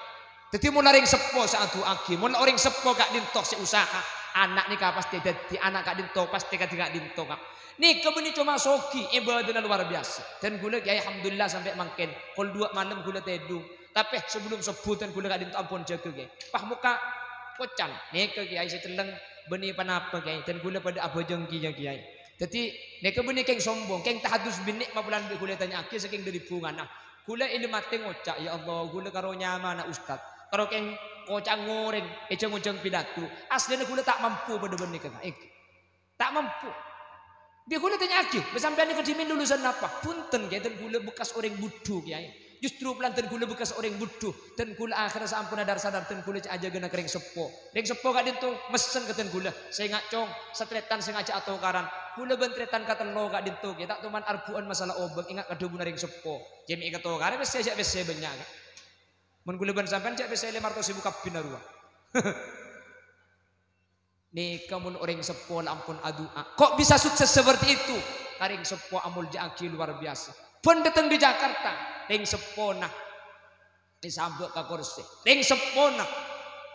Dhâddhi, mon la rèng seppo sè adu'aaghi, mon la orèng seppo ka'dinto sè usaha, ana' nèka pastè dhâddhi, ana' ka'dinto pastè kadhi ka'dinto, Ka'. Nèka bânnè coma soghi, ibâdâna luar biasa. Dân ghulâ, Kèyaè, alhamdulillah, sampè' mangkèn. Kol duwâ' malem ghulâ tèdung. Tapè sabellum sobbhu dân ghulâ ka'dinto ampon jâgâ, Kèyaè. Pas mokka' kocan. Nèka, Kèyaè, sè celleng bânnè ponapa, Kèyaè? Dân ghulâ padâ abhâjâng kèya, Kèyaè. Dhâddhi, nèka bânnè kèng sombong, kèng tahadus binè' mapolan bi' ghulâ ètanya'aghi sakèng dâri bhungana. Ghulâ è lemmatè ngoca', "Ya Allah, ghulâ karo nyamana ustad, karo kèng koca' ngorèng è jâng-ojâng pidato. Aslina ghulâ ta' mampu padâ bân nèka, Kèyaè." Ta' mampu. Bi' ghulâ tanya'aghi, "Bâ sampèyan nèka dhimèn lulusan napa?" "Bhunten, Kèyaè, dân ghulâ bekkas orèng budhu, Kèyaè." Justru polana dân ghulâ bekkas orèng budhu, dân ghulâ akhèrra saamponna dhâr-sadhâr dân ghulâ cè' ajâgâna ka rèng seppo. Rèng seppo ka'dinto messen ka dân ghulâ, "Sènga', Cong, satarètan sènga' jhâ' atokaran. Ghulâ bân tarètan katello ka'dinto, Kèyaè, ta' toman argu'ân masalah obâng, enga' ka dhâbuna rèng seppo. Jhâ' mè' èkatokarè pèssè jhâ' pèssè bânnya', Kèyaè. Mon ghulâ bân sampèyan jhâ' pèssè lèma ratos èbu kabbhina rowa." Nèka mon orèng seppo la ampon adu'a. Kok bisa sukses seperti itu? Ka rèng seppo amolja'aghi luar biasa. Bân dâteng dâri Jakarta, rèng seppona èsabâ' ka korsè. Rèng seppona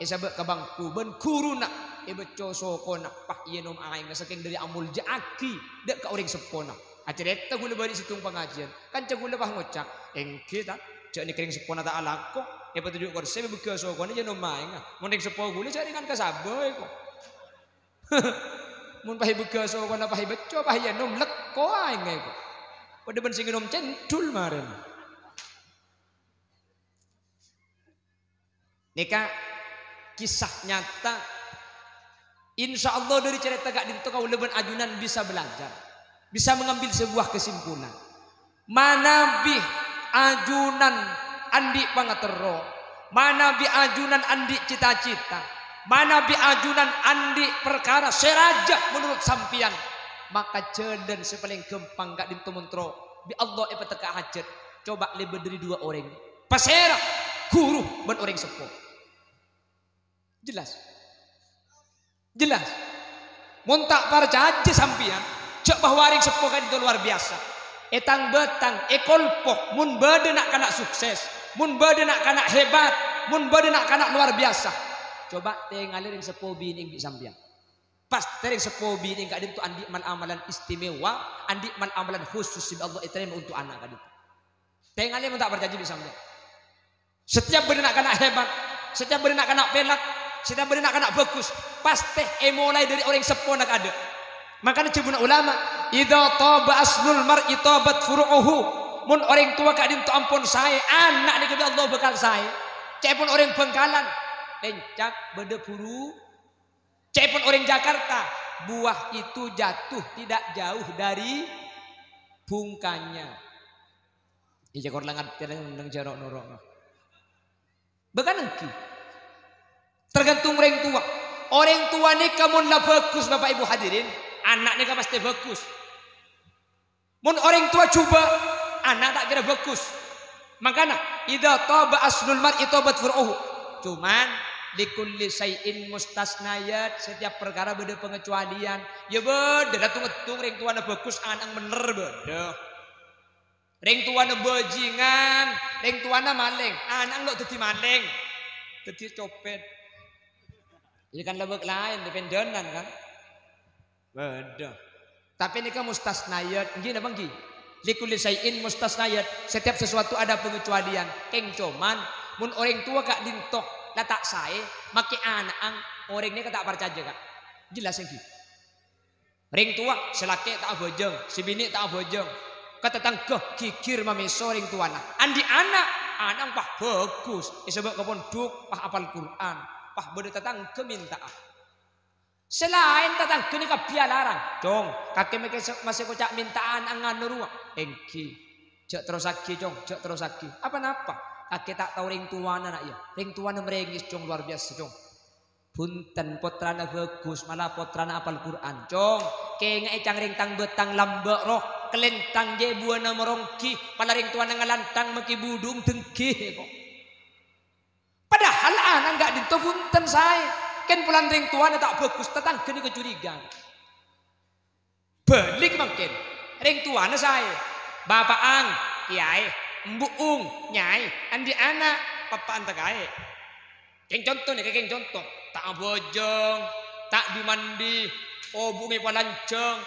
èsabâ' ka bangku bân ghuruna. Èbâcco sokona, pas ènom aèngnga sakèng dâri amoljâ'aghi dâ' ka orèng seppona. Acarèta ghulâ bâli' sèttong pangajiân. Kanca ghulâ pas ngoca', "Èngghi, ta', jhâ' nèka orèng seppona ta' alako. Èpatoju' korsè, èbâgâ sokona, jhâ' nom aèngnga. Mon orèng seppo ghulâ jhâ' rèngan ka sabâ, èko." Mon pas èbâgâ sokona, pas èbâcco, pas ènom, lekko aèngnga, èko. Padâ bân sè ngènom cendhul marèna. Nèka kisah nyata. Insya Allah dâri carèta ka'dinto kaulâ bân ajunan bisa belajar, bisa mengambil sebuah kesimpulan. Manabi ajunan andi' pangaterro, manabi ajunan andi' cita-cita, manabi ajunan andi' parkara sè rajâ menurut sampèyan, maka jhâlân sè palèng ghâmpang ka'dinto mon terro bi' Allah èpatekka hajhât. Coba lèbât dâri duwâ' orèng. Pasèra? Ghuru bân orèng seppo. Jelas? Jelas? Mon ta' parcajâ sampèyan, jhâ' bahwa orèng seppo ka'dinto luar biyasa. È tang-bâtang, è kolpo, mon bâdâ na'-kana' sukses, mon bâdâ na'-kana' hebat, mon bâdâ na'-kana' luar biyasa. Coba tèngalè orèng seppo binè'èng bi' sampèyan. Pastè orèng seppo binè'èng ka'dinto andi' mal-amalan istimewa, andi' mal-amalan khusus sè bi' Allah ètarèma onto' ana' ka'dinto. Tèngalè mon ta' parcajâ bi' sampèyan. Setiap bâdâ na'-kana' hebat, setiap bâdâ na'-kana' pèlak, setiap bâdâ na'-kana' bhâghus, pastè èmolaè dâri orèng seppona ka'dinto. Mangkana dhâbuna ulama, "Idza taba aslul mar'i tabat furu'uhu." Mon orèng towa ka'dinto ampon saè, ana' nèka bi' Allah bhâkal saè. Ca'èpon orèng Bangkalan, lèncak bâdâ buru. Ca'èpon orèng Jakarta, buah itu jatuh tidak jauh dari bungkanya. Iyâ, kor la ngartè neng jhâ' ro'-noro'. Bâkal èngghi. Tergantung orèng towa. Orèng towa nèka mon la bhâghus, Bapak Ibu hadirin, ana' nèka pastè bhâghus. Mon orèng towa jhubâ', ana' ta' kèra bhâghus. Mangkana, "Idza taba aslul mar'i tabat furu'uhu." Cuman, "Likulli syai'in mustasnayat," setiap parkara bâdâ pangecualian. Iyâ bâdâ, la tong-èttong orèng towana bhâghus, ana'na bhender bâdâ. Rèng towana bajingan, rèng towana malèng, ana'na lo' dhâddhi malèng, dhâddhi copet. Iyâ kan la bâk laèn, dipèndhânan kan? Bâdâ. Tapè nèka mustasnayat, èngghi napa èngghi? "Likulli syai'in mustasnayat." Setiap sesuatu ada pengecualian. Kèng coman, mon orèng towa ka'dinto la ta' saè, makè ana'na, orèng nèka ta' parcajâ, Ka'. Jelas èngghi? Rèng towa, sè lakè' ta' abhâjâng, sè binè' ta' abhâjâng. Ka tatangghâ ghighir mamèso rèng towana. Andi' ana', ana'na pas bhâghus, èsabâ' ka pondhuk, pas apal Qur'an, pas bâdâ tatangghâ mènta'a. Sè laèn tatangghâna kabbhi alarang. "Cong, kakè makè se-, masè koca' mènta'a ana'na nganu rowa?" "Èngghi." "Jhâ' terrossaghi, Cong, jhâ' terrossaghi." "Apa-napa?" "Kakè ta' tao rèng towana, na', iyâ. Rèng towana marèngès, Cong, luar biyasa, Cong." "Bhunten, pottrana bhâghus, mala pottrana apal Qur'an." "Cong, kènga'è cang rèng tang-bâtang lambâ' rowa, kalèntang jhâ' buwâna maronggi, pala rèng towana ngalantang makè budhung dengghi, kok." Padahal ana'na ka'dinto bhunten saè, kèng polana rèng towana ta' bhâghus, tatangghâna kacurigaan. Bâlik mangkèn, rèng towana saè. Bapa'na kèyaè, embu'na nyaè, andi' ana', pappa'na ta' kaè. Kèng conto nèka, kèng conto. Ta' abhâjâng, ta' dhi-mandi, obungnga palanjhâng,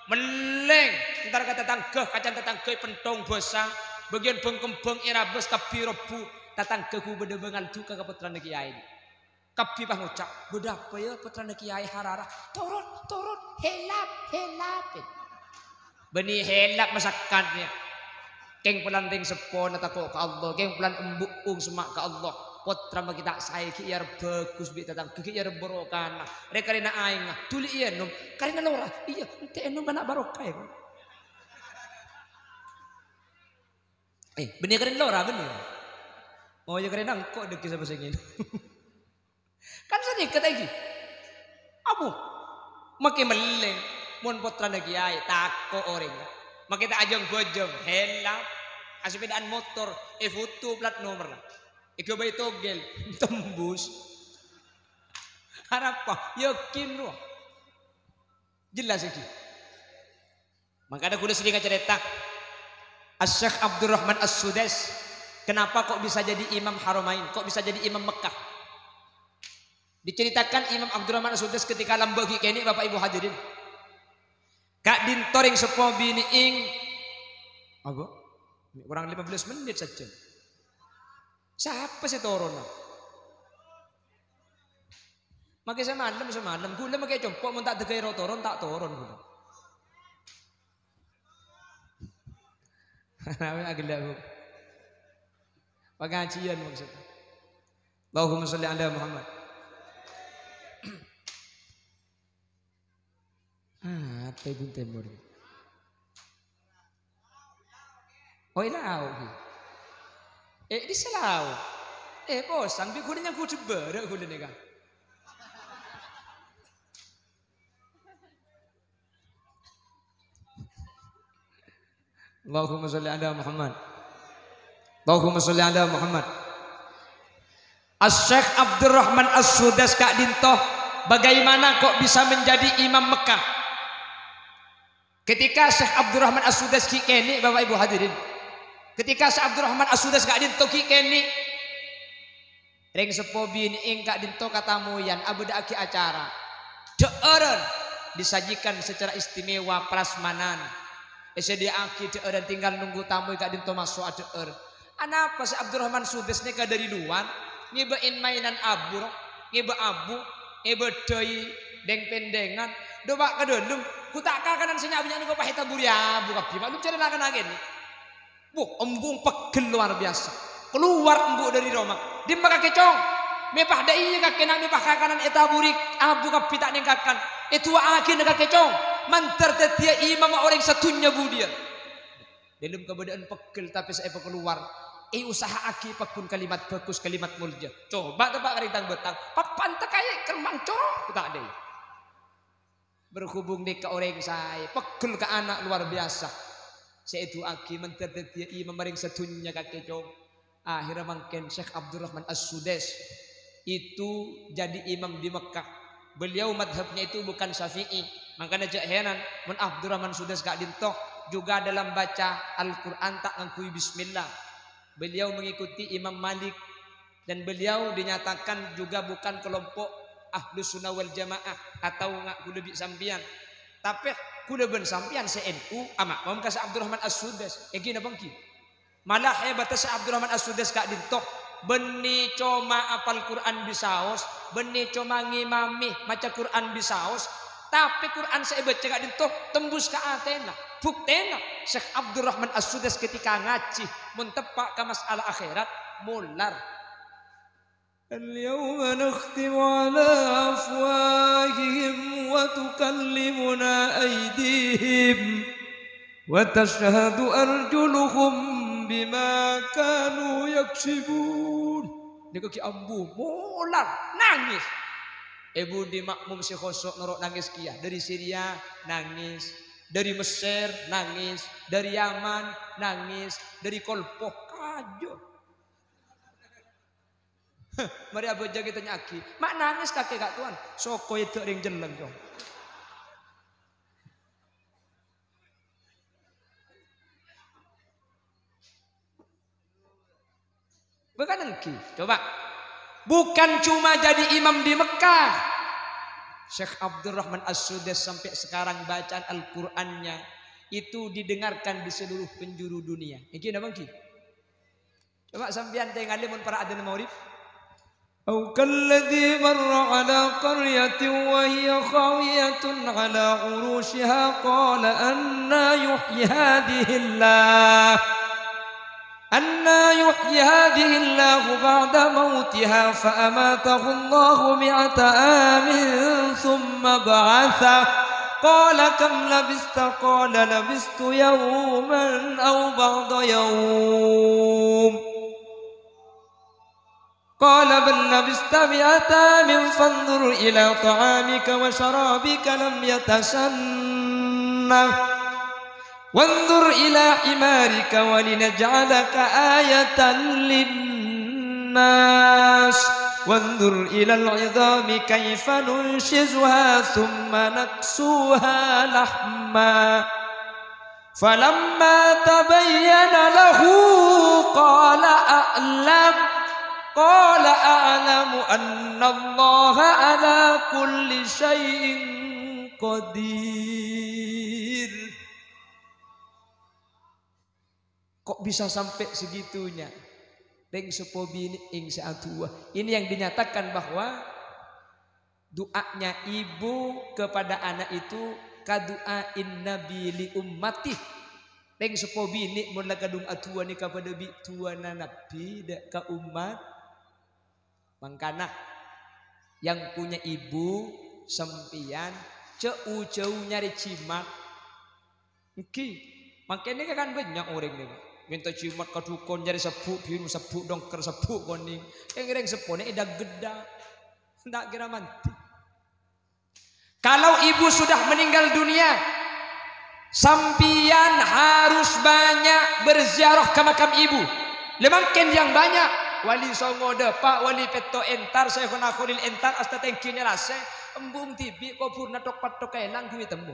mellèng, entar ka tatangghâ, kacana tatangghâ èpenthong bhâsa, bâgiyân bâng-kembhâng èrabâs kabbhi robbhu, tatangghâ ghubâdhâ bângal duka ka pottrana kèyaè. Kabbhi pas ngoca', "Bâdâ apa, yâ, pottrana kèyaè harara?" "Torot, torot, helap, helap." Bânnè helap masakkadhâ. Kèng polana rèng seppona tako' ka Allah, kèng polana embu'na semma' ka Allah. Pottra makè ta' saè ghi' èarep bhâghus bi' tatangghâ, ghi' èarep barokana. Rè-karèna aèngnga, dhuli ènom, karèna lora. Iyâ, ènte' ènom kana' barokah, yâ. Eh, bânnè karèna lora, bânnè. Oh, yâ, karèna engko' dhâggi' sapa sè ngènom. Kan sanèka ta' èngghi? Abu, makè mellèng, mon pottrana kèyaè, tako' orèng. Makè ta' ajâng-bâjâng, helap, asepèdaan motor, èfoto plat nomerra. Èghâbây togel, tembus. Arapa? Yakin rowa. Jelas èngghi? Mangkana ghulâ sering acarèta, Asy-Syeikh Abdurrahman As-Sudais, kenapa kok bisa jadi Imam Haramain, kok bisa jadi Imam Mekkah? Diceritakan Imam Abdurrahman As-Sudais ketika lambâ' ghi' kènè', Bapak Ibu hadirin. Ka'dinto rèng seppo binè'èng, apa? Kurang lima belas menit saja. Sapa sè toron? Makè samalem, samalem. Ghulâ makè compo', mon ta' dâgâi ro-, toron, ta' toron ghulâ. Aghellâ', Bu. Pangajiân maksudnya. Allahumma sholli ala Muhammad. Ah, apa Ibu Timur? Oh, ilao, Bu. Eh, di selao. Eh, posang, bi' ghulâ nyanggu jebbârâ' ghulâ nèka. Allahumma sholli ala Muhammad. Allahumma sholli ala Muhammad. Asy-Syeikh Abdurrahman As-Sudais ka'dinto, bagaimana kok bisa menjadi imam Mekah? Ketika Syekh Abdurrahman As-Sudais ghi' kènè', Bapak Ibu hadirin. Ketika Syekh Abdurrahman As-Sudais ka'dinto ghi' kènè', rèng seppo binè'èng ka'dinto katamoyan abâdâ'aghi acara. Dhâ'ârân disajikan secara istimewa prasmanan. Èsadhiyâ'aghi dhâ'ârân, tinggal nunggu tamoy ka'dinto maso' adhâ'âr. Anapa sè Abdurrahman Sudais nèka dâri lowar, ngèbâ in-mainan abu, ro? Ngèbâ abu, ngèbâ dhâi, dèng-pèndèngan, dâpa' ka dâlem, ghu ta' kakanan sè nya'-bânnya' nèko pas ètaburi abu kabbhi, ma'lum carè lakana kènè'. Wuh, embu' pegghel luar biasa. Kalowar embu' dâri roma. Dimma kakè, Cong? Mè pas dâ' iyâ kakè, na', mè pas kakanan ètaburi abu kabbhi ta' nèng kakan. Èdu'a'aghina kakè, Cong. Mandhâr dhâddhiyâ imamma orèng sadhunnya budiyân. Dâlem kabâdâ'ân pegghel, tapè sè èpakalowar, èusaha'aghi pagghun kalimat bhâghus, kalimat molja. Coba teppa' ka rèng tang-bâtang, pappanta kaè kermang coro' ta' dâi. Berhubung nèka orèng saè, pegghel ka ana' luar biasa. Sè èdu'a'aghi mandhâr dhâddhiyâ imam orèng sadhunnya kakè, Cong. Akhirnya mangkèn Syekh Abdurrahman As-Sudais itu jadi imam di Mekah. Beliau madhabnya itu bukan Syafi'i. Mangkana jhâ' heran, mon Abdurrahman Sudais ka'dinto juga dalam baca Al-Qur'an ta' ngangghuy bismillah. Beliau mengikuti Imam Malik dan beliau dinyatakan juga bukan kelompok Ahlus Sunnah wal Jamaah atau nga' ghulâ bi' sampèyan. Tapè ghulâ bân sampèyan sè N U, amakmum ka Syekh Abdurrahman As-Sudais. Èngghi napa èngghi? Mala hebatta Syekh Abdurrahman As-Sudais ka'dinto, bânnè coma apal Qur'an bisaos, bânnè coma ngimami maca Qur'an bisaos, tapè Qur'an sè èbâca ka'dinto tembus ka atèna. Buktèna, Syekh Abdurrahman As-Sudais ketika ngajhi, mon teppa' ka mas'ala akhèrat, molar. اليوم نختم على أفواههم وتكلمنا أيديهم وتشهد أرجلهم بما كانوا يكسبون. Nèko ghi' ambu, molar, nangès. È budi makmum sè khusyu' noro' nangès kèya. Dâri Syria, nangès. Dâri Messer, nangès. Dâri Yaman, nangès. Dâri Kolpo, kajâ. Marè abhâjâng ètanya'aghi, "Ma' nangès kakè, Ka' Towan?" "Soko èdâ' rèng cellèng, Cong." Bukan èngghi. Coba. Bukan cuma jadi imam di Mekah. Syekh Abdurrahman As-Sudais sampai sekarang bacaan Al-Qur'annya itu didengarkan di seluruh penjuru dunia. Èngghi napa èngghi? Coba sampèyan tèngalè mon para' adzan maghrib. أو كالذي مر على قرية وهي خاوية على عروشها قال أنى يحيي هذه الله، أنى يحيي هذه الله بعد موتها فأماته الله مائة عام ثم بعثه قال كم لبثت؟ قال لبثت يوما أو بعض يوم. قال بل لبثت مائة عام فانظر إلى طعامك وشرابك لم يتسنه وانظر إلى حمارك ولنجعلك آية للناس وانظر إلى العظام كيف ننشزها ثم نكسوها لحما فلما تبين له قال أعلم Qala a'lamu annallaha ala kulli syai'in qadir. Kok bisa sampai segitunya? Rèng seppo binè' sè adu'a. Ini yang dinyatakan bahwa doanya ibu kepada anak itu kadu'ain Nabi li ummati. Rèng seppo binè' mon la kadhung adu'a nèka padâ bi' du'ana Nabi dâ' ka ommat. Mangkana, yang punya ibu, sampèyan, jhâ' u-jhâu nyarè jimat. Èngghi, mangkèn nèka kan bânnya' orèng nèka. Mènta jimat ka dhukon nyarè sebbhu' biru, sebbhu' dongker, sebbhu' konèng. Kèng rèng seppona èdhâk ghedhâ. Ta' kèra mandhi. Kalau ibu sudah meninggal dunia, sampèyan harus banyak berziarah ke makam ibu. Lè mangkèn yang banyak, Wali Songo dâpa', Wali Pètto' èntar, Syaikhona Kholil èntar, asta tèngghi nyalasè, embu' dhibi' kobhurna thok-petthok èlang ghu ètemmo.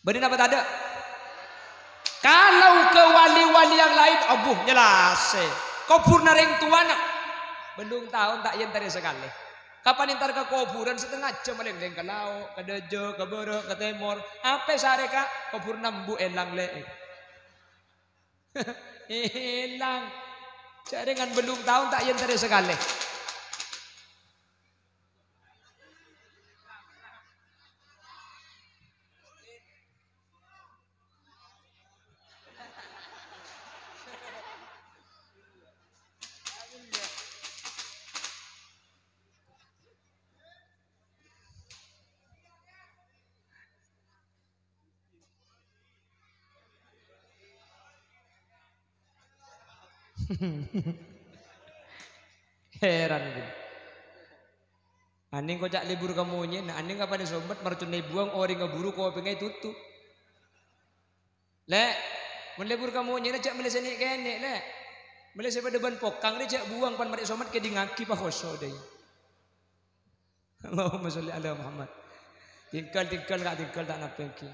Bâdâ napa tadâ'? Kalau ke wali-wali yang lain, abbhu, nyalasè. Kobhurna rèng towana. Bellung taon ta' èentarè sakalè. Kapan èntar ka kobhurân, satengnga jam malènglèng ka lao', ka dâjâ, ka bârâ', ka tèmor. Apa sarè, Ka'? Kobhurna embu' èlang, Lè'. Èlang. Jhâ' rèngan bellung taon ta' èentarè sakalè. Heran ghun. Anèng koca' lebur ka monyèna, anèng kapan èsombhât marconna èbuwâng orèngnga buru kopèngnga ètotop. Lè', mon lebur ka monyèna jhâ' mellè sè nè'-kènè', Lè'. Mellè sè padâ bân pokang rè jhâ' buwâng pan marè èsombhât kèdingngaghi pahoso' dâi. Allahumma sholli ala Muhammad. Tinggal, tinggal, Ka', tinggal, ta' napa èngghi.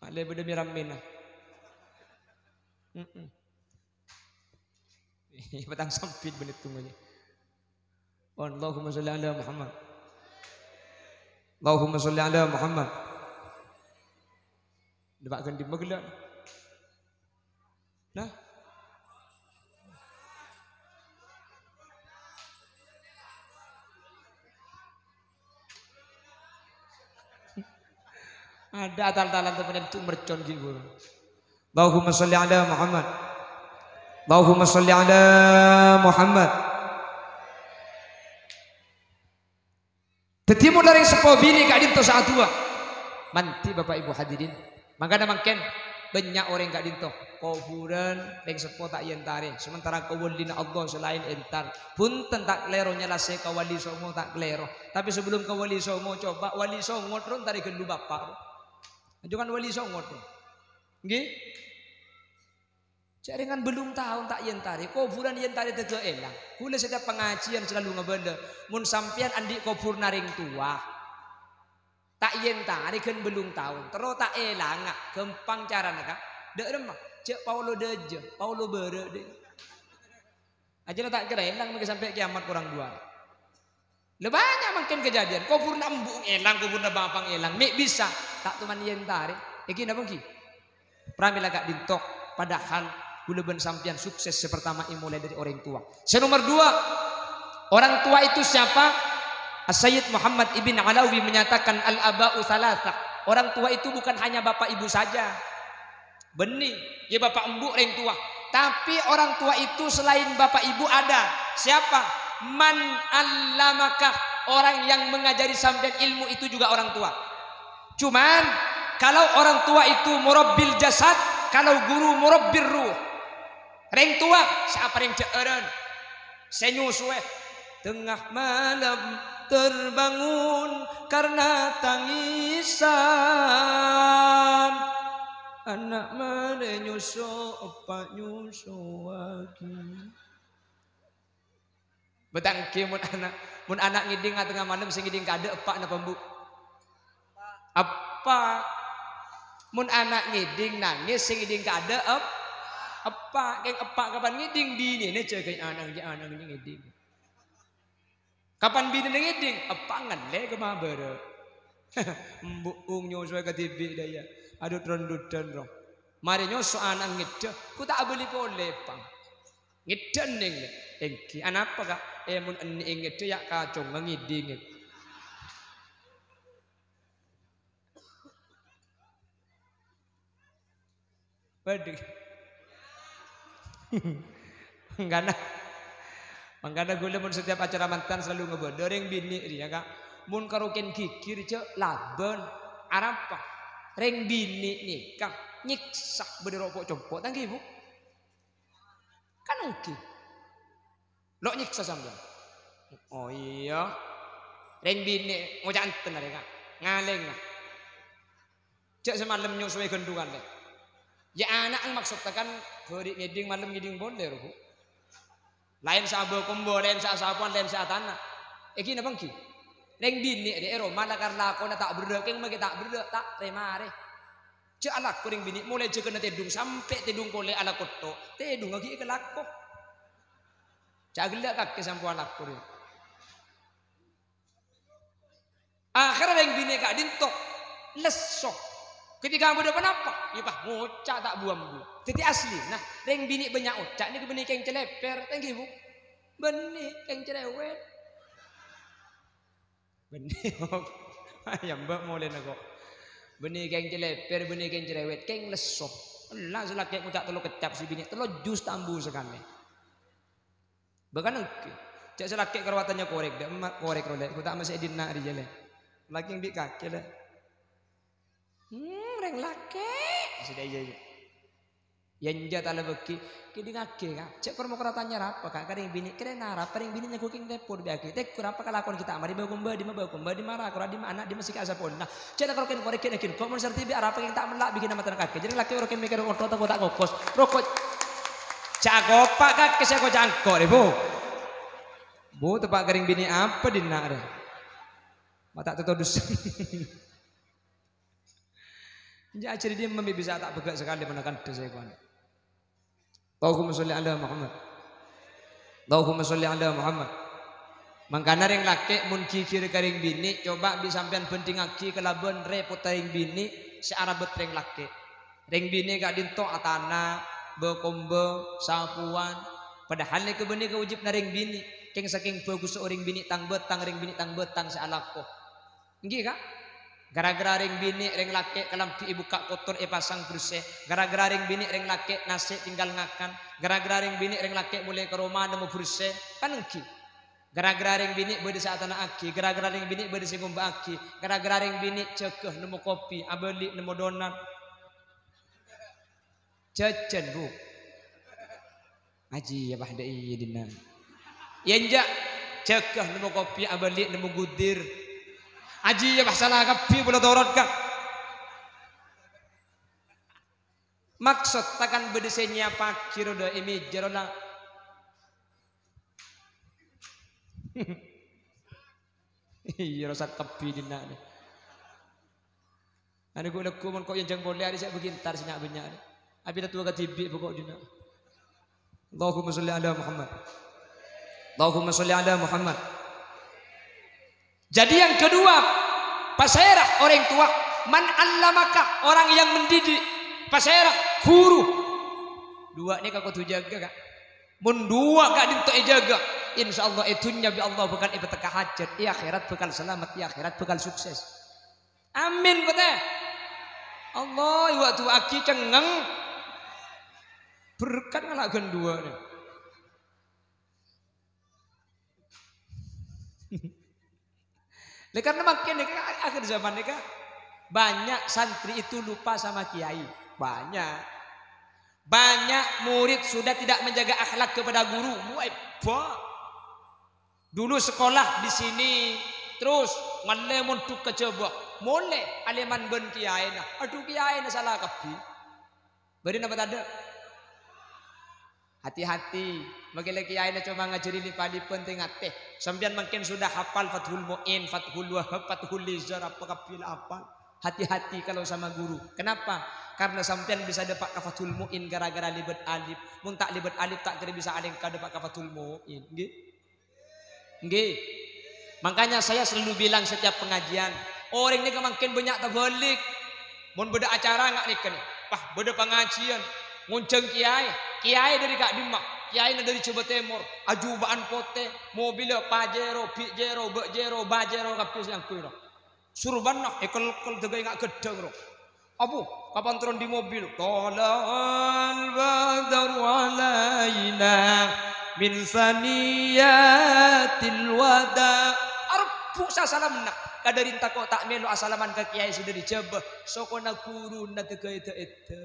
Malè bâdâ mi-rammèna. Mm-mm. Patang sambit bânnè tunggunya. Allahumma sholli ala Muhammad. Allahumma sholli ala Muhammad. Dâpa' ghân dimma ghellâ'? Nah. Adâ' tal-talan teppa'na èntu' mercon ghi' buru. Allahumma sholli ala Muhammad. Allahumma sholli ala Muhammad. Dhâddhi, mon la rèng seppo binè' ka'dinto sè adu'a, mandhi, Bapak Ibu hadirin. Mangkana mangkèn, bânnya' orèng ka'dinto, kobhurân rèng seppo ta' èentarè, sementara kawalina Allah sè laèn èntar. Bhunten, ta' kalèro nyalasè ka Wali Songo, ta' kalèro. Tapè sabellun ka Wali Songo, coba Wali Songo ro èntarè ghâllu bapa' ro. Ajunan Wali Songo ro. Èngghi? Jhâ' rèngan bellung taon ta' èentarè, kobhurân èentarè tèghâ èlang. Kaulâ setiap pangajiyân salalu ngabâlâ, mon sampèyan andi' kobhurna rèng towa, ta' èentarè ghân bellung taon, terro ta' èlanga, ghâmpang carana, Ka'. Dâ' remma, jhâ' paolo dâjâ, paolo bârâ' dâ'. Ajâna ta' kèra èlang mangkè sampè' kèyamat korang duwâ'. Lha bânnya' mangkèn kejadian, kobhurna embu' èlang, kobhurna bapa' èlang, mè' bisa, ta' toman èentarè. Èngghi napa èngghi? Pramèla ka'dinto, padahal kaulâ bân sampèyan sukses sè pertama èmolaè dâri orèng towa. Sè nomor dua, orang tua itu siapa? As-Sayyid Muhammad Ibn Alawi menyatakan, "Al-aba'u thalatha." Orang tua itu bukan hanya bapak ibu saja. Bânnè, yâ bapa' embu' rèng towa. Tapè orang tua itu selain bapak ibu ada. Siapa? Man 'allamaka, orang yang mengajari sampèyan ilmu itu juga orang tua. Cuman, kalau orang tua itu murabbil jasad, kalau guru murabbir ruh. Rèng towa, sè aparèng jhâ'ârân. Sè nyosowè, tengah malam terbangun karena tangisan. Ana' marè nyoso, eppa' nyosowaghi. Bâtangkè mon ana', mon ana' ngèdhing atengnga malem sè ngèdhing kaadâ' eppa' napa embu'? Eppa'. Mon ana' ngèdhing nangès sè ngèdhing kaadâ' ep-, Eppa', kèng eppa' kapan ngèdhing binèna jâgâi ana', jâ' ana' ngèdhing. Kapan binèna ngèdhing, eppa' ngallè ka mabârâ. Embu'ung nyosowè kadhibi' dâ' iyâ. Adhu, tron-dudhân, ro. Marè nyoso ana' ngèdhâ, ghu ta' abâli polè, Pang. Ngèdhâ ennèng, lè. Èngghi, anapa, Ka'? È, mon ennè'è ngèdhâ, yâ' kacongnga ngèdhingè. Waduh. Mangkana, mangkana ghulâ mon setiap acara mantan selalu ngabâlâ rèng binè' rèya, Ka'. Mon karo kèng ghighir jâ' labân. Arapa? Rèng binè' nèka nyèksa bâdâ ro' po'-compo', ta' èngghi, Bu? Kan èngghi. Lo' nyèksa sampèyan. Oh, iyâ. Rèng binè' ngoca' enten arè, Ka'. Ngalènga. Jâ' samalem nyosowè ghândhuwân, lè. Yâ, ana' maksodda kan bâri' ngèdhing, malem ngèdhing polè, ro, Bu. Laèn sè abâ-kombâ, laèn sè asapowan, laèn sè atana'. Èngghi napa èngghi? Rèng binè' rè, è roma lakar lakona ta' berrâ', kèng maghi ta' berrâ', ta' rè-marè. Jâ' alako rèng binè', molaè jâgâna tèdung sampè' tèdung polè alako to', tèdungnga ghi' èkalako. Jâ' ghellâ' kakè sampo alako rè. Akhèrra rèng binè' ka'dinto lesso. Ketika bâdâ ponapa? Yâ, pas ngoca' ta' bu-ambu. Dhâddhi aslina, rèng binè' bânnya' oca' nèka bânnè kèng calèpèr, ta' èngghi, Bu? Bânnè kèng cerewet. Bânnè. Yâ, Mbak, molèna ko'. Bânnè kèng calèpèr, bânnè kèng cerewet, kèng lesso. Ella sè lakè' ngoca' tello keccap, sè binè' tello jus ta' ambu sakalè. Bahkan èngghi. Jâ' sè lakè' karo atanya korèk, dâ' emma' korèk ro, Lè'. Ghu ta' masè è dinna' rèya, Lè'. Lakè' bi' kakè, Lè'. Hmm, rèng lakè'. Sè dâ' iyâ, iyâ. Yâ enjâ' talèbâghi. Kèdhingngaghi, Ka'. Jâ' kor mokor atanya arapa, Ka'? Ka rèng binè'. Kèrèna arapa rèng binè' nyaghung kèng tèpor bi' aghi. Tèkor apa kalakowan ghi' ta' marè bâ-kombâ dimma bâ-kombâ dimma ra kor dimma ana' dimma sè ka' sapowanna. Jâ' la kor kèng korèk ghi' naghin. Ko' mon sarti bi' arapa kèng ta' mella' bi' ghi' na matana kakè. Jârèng lakè' oro' kèng mèkkèrè onto' tako' ta' kokos. Roko'. Ca' kopa' kakè sè koca' engko' rè, Bu. Bu, teppa' ka rèng binè' apa dinna' rè? Ma' ta' totodus. Jâ' ajhâri dimma bi' bisa ta' bâgâ' sakalè manakan dhâ sèkowan. Allahumma sholli ala Muhammad. Allahumma sholli ala Muhammad. Mangkana rèng lakè' mon ghighir ka rèng binè', coba bi' sampèyan bhândhingngaghi kalabân rèpotta rèng binè' sè arabât rèng lakè'. Rèng binè' ka'dinto atana', bâ-kombâ, sapowan. Padahal nèka bânnè kawâjibhânna rèng binè'. Kèng sakèng bhâgussa orèng binè' tang-bâtang, rèng binè' tang-bâtang sè alako. Èngghi, Ka'? Gara-gara rèng binè', rèng lakè' kalambhi èbukka' kotor èpasang bersè. Gara-gara rèng binè', rèng lakè' nasè' tinggal ngakan. Gara-gara rèng binè', rèng lakè' molè ka roma nemmo bersè. Kan èngghi? Gara-gara rèng binè' bâdâ sè atana'aghi, gara-gara rèng binè' bâdâ sè ngombâ'aghi, gara-gara rèng binè' jâgâ nemmo kopi, abâli nemmo donat. Jhâjhân, Bu. Ajiyâ, Bah, dâ' iyâ dinna'. Yâ, enjâ'. Jâgâ nemmo kopi, abâli nemmo gudir. Ajiyâ, Bah, sala kabbhi, pola torot, Ka'. Maksodda kan bâdâ sè nyèyapaghi ro dâ' è mèja ro la. Iyâ, rosak kabbhi dinna'. Anu ghu-lagghu mon ko' èyanjhâng polè arè sè bâghi entar sè nya'-bânnya' arè. Abit towa kadhibi' pokok dinna'. Allahumma sholli ala Muhammad. Allahumma sholli ala Muhammad. Jadi yang kedua, pasèra orèng towa, man allamaka, orang yang mendidik, pasèra guru. Duwâ' nèka kodhu jâgâ, Ka'. Mon duwâ' ka'dinto èjâgâ, insyaallah è dhunnya bi' Allah bhâkal èpatèkka hajhât, è akhèrat bhâkal salamet, è akhèrat bhâkal sukses. Amin, bhâtè? Allah, èwâ'-duwâ'aghi cengngeng. Berkat ngala' ghân duwâ' nè. Lah, karena mangkèn nèka akhir zaman nèka banyak santri itu lupa sama kiai. Banyak. Banyak murid sudah tidak menjaga akhlak kepada guru. Wah, hebat. Dulu sekolah di sini, terus mallè mondhuk ka Jhâbâ. Molè alèman bân kiyaèna. Adhu, kiyaèna sala kabbhi. Bâdâ napa tadâ'? Hati-hati. Mangkèn la kiyaèna coma ngajhâri li-, palèbân tè-ngatè. Sampèyan mangkèn sudah hafal Fathul Mu'in, Fathul Wahhab, Fathul Lizar, apa kabbhi la hafal. Hati-hati kalau sama guru. Kenapa? Karena sampèyan bisa dâpa' ka Fathul Mu'in gara-gara lèbât alif. Mon ta' lèbât alif, ta' kèra bisa alèngka dâpa' ka Fathul Mu'in. Ngghi? Ngghi. Makanya saya selalu bilang setiap pengajian, orèng nèka mangkèn bânnya' tabâlik. Mon bâdâ acara nga' nèka nè, wah, bâdâ pangajiân, ngonjhâng kèyaè, kèyaè dâri ka'dimma, kèyaèna dâri Jhâbâ Tèmor, ajuba'an potè, mobilla Pajero, Bijero, Ba'jero, Bajero kabbhi sè angghuy, no. Surbana èkel-kel dâgâ enga' ghâddhâng, ro. Abu, kapan turun di mobil? Thala'al badru alaina min saniyatil wada. Arebbhu' sasalamna. Kadâri tako' ta' mèlo asalaman ka kèyaè sè dâri Jhâbâ. Sokona ghuruna dâgâ èdâ-èdâ.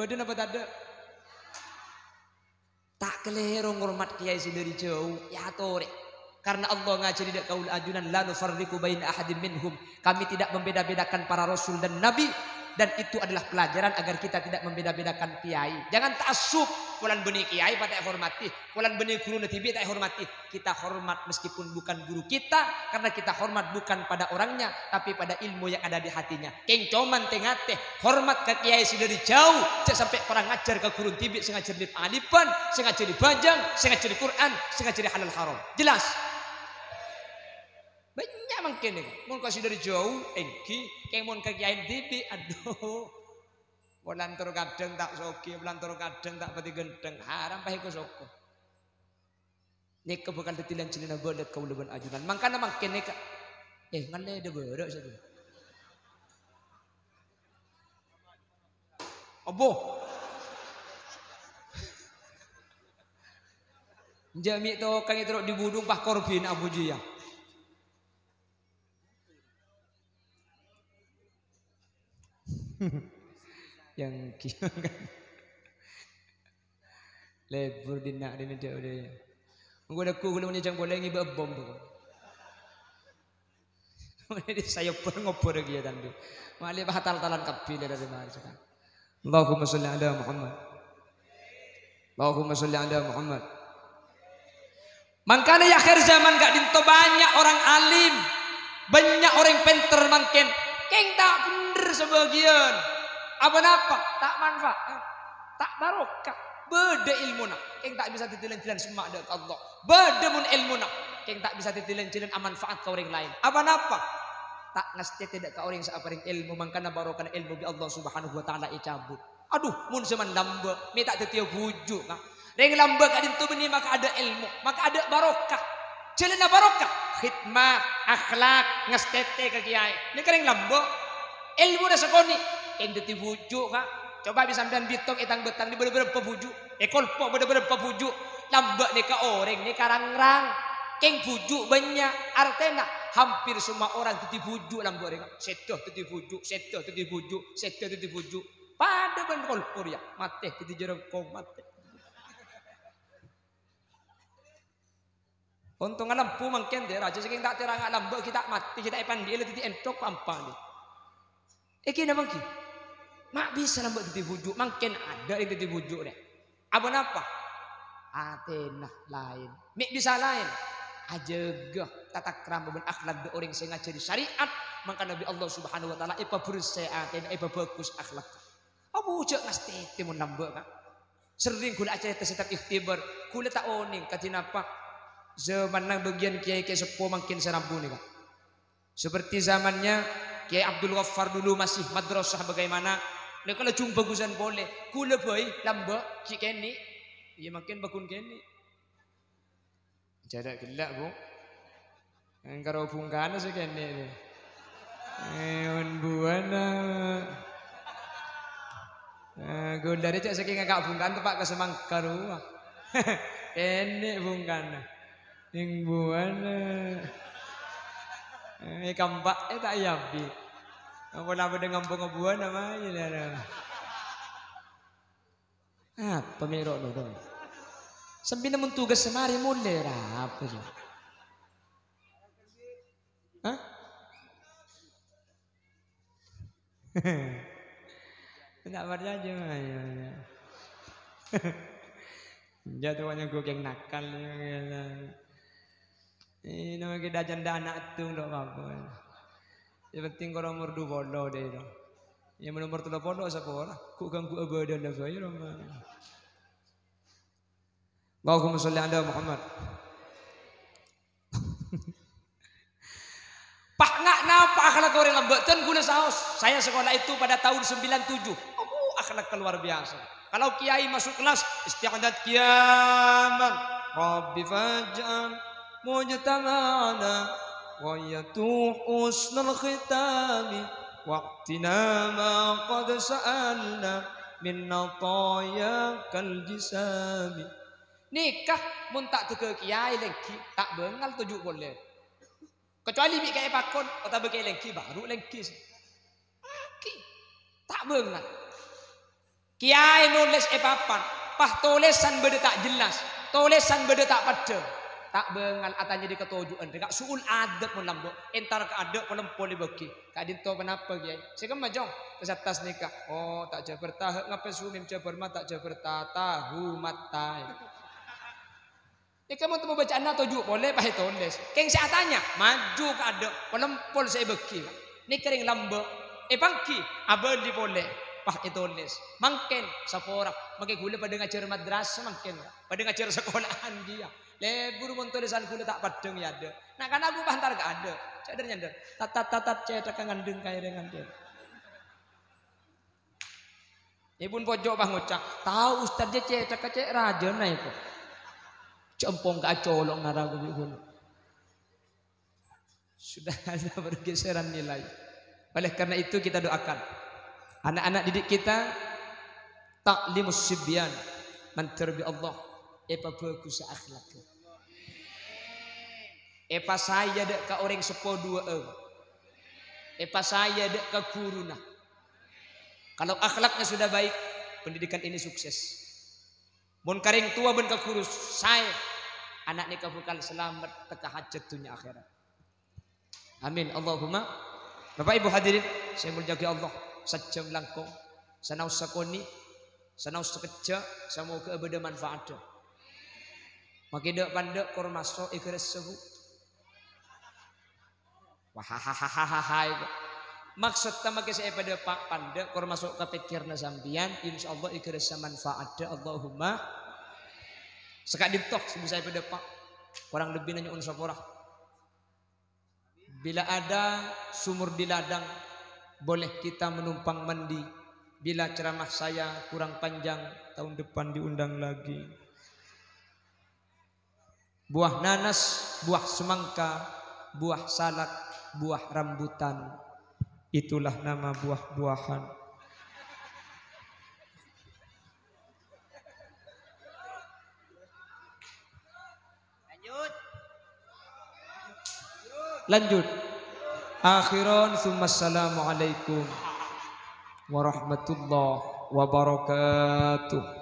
Bâdâ napa tadâ'? Ta' kalèro ngormat kèyaè sè dâri jhâu, èyatorè. Karena Allah ngajhâri dâ' kaulâ ajunan, "La nufarriqu baina ahadin minhum." Kami tidak membeda-bedakan para rasul dan nabi, dan itu adalah pelajaran agar kita tidak membeda-bedakan kèyaè. Jangan ta'assub, polana bânnè kèyaè patè èhormadhi, polana bânnè ghuruna dhibi' ta' èhormadhi. Kita hormat meskipun bukan guru kita, karena kita hormat bukan pada orangnya, tapi pada ilmu yang ada di hatinya. Kèng coma tè-ngatè, hormat ka kèyaè sè dâri jhâu, jhâ' sampè' kurang ajar ka ghuru dhibi' sè ngajhâri alif-alifan, sè ngajhâri bhâjâng, sè ngajhâri Qur'an, sè ngajhâri halal haram. Jelas? Bânnya' mangkèn nèko. Mon ka sè dâri jhâu, èngghi, kèng mon ka kèyaè dhibi', adhu. Polantor kadhâng ta' soghi, polantor kadhâng ta' patè ghântheng, haram pas èko soko. Nèka bhâkal dhâddhi lan-jhâlânna bâlât kaulâ bân ajunan. Mangkana mangkèn nèka. Eh, ngallè dâ' bârâ' satu. Abbhu. Jhâ' mè' tokang èterro' dhi budhung pas korbhina Abu Jiyah. Yang ki-, lebur dinna' dinna' dia udah. Engko' lagghu' ghulâ mon nyajâng polè ngibâ bom pokok. Sayobbhâr ngobbhâr ghi ya tandu. Malè patal-talan kabbhi lè dâri marjâ kan. Allahumma sholli ala Muhammad. Allahumma sholli ala Muhammad. Mangkana è akhir zaman ka'dinto bânnya' orèng alim, bânnya' orèng pènter mangkèn, kèng ta' bhendher sabâgiyân. Apa napa? Ta' manfaat, ta' barokah. Bâdâ èlmona, kèng ta' bisa dhâddhi lan-jhâlân semma' dâ' ka Allah. Bâdâ mon èlmona, kèng ta' bisa dhâddhi lan-jhâlân amanfaat ka orèng laèn. Apa napa? Ta' ngastètè dâ' ka orèng sè aparèng èlmo, mangkana barokana èlmo bi' Allah Subhanahu wa Ta'ala ècabut. Adhu, mon zaman lambâ', mè' ta' dhâddhiyâ bhuju', ka. Rèng lambâ' ka'dinto bânnè maka adâ' èlmo, maka adâ' barokah. Jhâlânna barokah, khidmah, akhlak, ngastètè ka kèyaè. Nèka rèng lambâ'. Èlmona sakonè', kèng dhâddhi bhuju', ka. Coba bi' sampèyan bitong è tang-bâtang nè bâdâ bârâmpa bhuju'. È kolpo' bâdâ bârâmpa bhuju'. Lambâ' nèka orèng nèka rang-rang. Kèng bhuju' bânnya', artèna hampir semua orang dhâddhi bhuju' lambâ' rèng. Sèdhâ dhâddhi bhuju', sèdhâ dhâddhi bhuju', sèdhâ dhâddhi bhuju'. Padâ bân kolpo' rèya, matè dhâddhi jhârângkong, matè. Ontongnga lambâ' mangkèn, dâ' rajâ sakèng ta' tèranga lambâ' ghi' ta' matè, ghi' ta' èpandi'i la dhâddhi èntok pa-, ampa, dâ'. È kèya napa ghi? Ma' bisa lambâ' dhâddhi bhuju', mangkèn adâ' rèng dhâddhi bhuju', rè. Apa napa? Atèna laèn. Mè' bisa laèn. Ajâgâ tatakrama bân akhlak dâ' orèng sè ngajhâri syariat, mangkana bi' Allah Subhanahu wa Ta'ala èpabhersè atèna, èpabhâghus akhlak. Abu jhâ' ngastètè mon lambâ', Ka'. Serrèng ghulâ acarèta sèttap ikhtibar. Ghulâ ta' onèng kadhi napa. Zamanna bâgiyân kèyaè-kèyaè seppo mangkèn sè rabu nèka. Seperti zamannya Kiai Abdul Ghaffar dulu masih madrasah bagaimana. Nèka lajung bhâghusân polè. Ghulâ bhâi lambâ' ghi' kènè'. Iyâ mangkèn bhâghun kènè'. Jhâ' ghellâ', Bu. Èngkaro bhungkana sè kènè', Bu. Eh, mon buwâna. Eh, ghulâ rè cè' sakèng ngaka' bhungkana teppa' ka samangka rowa. Kènè' bhungkana. Ning buwâna. Eh, kampa'è ta' èabi. Engko' la padâ ngampongnga buwâna mayu, lho. Apa mè' ro'-noro'? Sampèyan mon tugas samarè molè ra apa sih? Hah? Enggak percaya, ya, ya. Jatuhnya gue yang nakal, ya, ya. Eh, nama kita janda anak itu, ndak apa-apa. Yang penting kalau umur dua puluh deh, no. Yang umur tiga puluh, siapa orang? Kok ganggu abadana bae, Roma. Allahumma sholli ala Muhammad. Pas nga' napa akhlak orèng lambâ', dân ghulâ saos. Saya sekolah itu pada tahun sembilan tujuh. Oh, akhlak luar biasa. Kalau kiai masuk kelas, isti'dad qiyaman. Rabbi faj'al mujtama'ana ghayatu husnal khitami. Wa'tina ma qad sa'alna min atayakal jisami. Nèka mon ta' dâgghâ' kiai lèngghi, ta' bângal toju' polè. Kecuali bi' kiai pakon, otabâ kiai lèngghi, baru lèngghi. Aki, ta' bângal. Kiai nolès è papan, pas tolèsan bâdâ ta' jelas, tolèsan bâdâ ta' paddhâng. Ta' bângal atanya dikatoju'ân, rèka su'ul adab mon lambâ', entar ka adâ' polem polè bâgi. Ka'dinto ponapa, Kiai? Sè kemma, Cong? Ka attas nèka. Oh, ta' jhâbâr tahâ' ngapè sumèm jhâbâr ma ta' jhâbâr ta, tahu matai. Nèka mon temmo bâca'anna toju' polè, pas ètolès. Kèng sè atanya, maju ka adâ', polem pol sè èbâgi. Nèka rèng lambâ', èpangghi, abâli polè, pas ètolès. Mangkèn, sapora, mangkèn ghulâ padâ ngajhâr madrasah mangkèn, padâ ngajhâr sakola'an kèya. Lebur mon tolèsan ghulâ ta' paddhâng è adâ'. Na'-kana' ghulâ pas entar ka adâ'. Ca'dâr nyandâr. Tatat-tatat cèthagghâ ngandhâng kaèrèngan, Dèn. Èpon pojok pas ngoca', "Tao Ustad jâ cèthagghâ cè' rajâna èko." Jhâmpong ka acolok ngara ghulâ. Sudah ada pergeseran nilai. Oleh karena itu kita doakan anak-anak didik kita, ta'limus sibyan, mandhâr bi' Allah, èpabhâghus akhlak. Èpasaè adâ' ka orèng seppo duwâ'ân. Èpasaè adâ' ka ghuruna. Kalau akhlaknya sudah baik, pendidikan ini sukses. Mon ka rèng towa bân ka ghuru saè, ana' nèka bhâkal salamet tekka hajat dhunnya akhèrat. Amin. Allahumma. Bapak Ibu hadirin, sè èmoljâ'aghi Allah, sajjhâm langkong, sanaos sakonè', sanaos sakejjhâ', samoghâ bâdâ manfaatdhâ. Makè dâ'-pandâ' kor maso' èghârâssa, Bu. Wah, hahaha, itu. Maksodda makè sè èpadâpa' pandâ' kor maso' ka pèkkèranna sampèyan, insyaallah èghârâssa manfaatdhâ. Allahumma. Saka'dinto sè bisa èpadâpa'. Korang lebbina nyo'on sapora. Bila ada sumur di ladang, boleh kita menumpang mandi. Bila ceramah saya kurang panjang, tahun depan diundang lagi. Buah nanas, buah semangka, buah salak, buah rambutan. Itulah nama buah-buahan. Lanjut. Akhiran, summa assalamualaikum warahmatullahi wabarakatuh.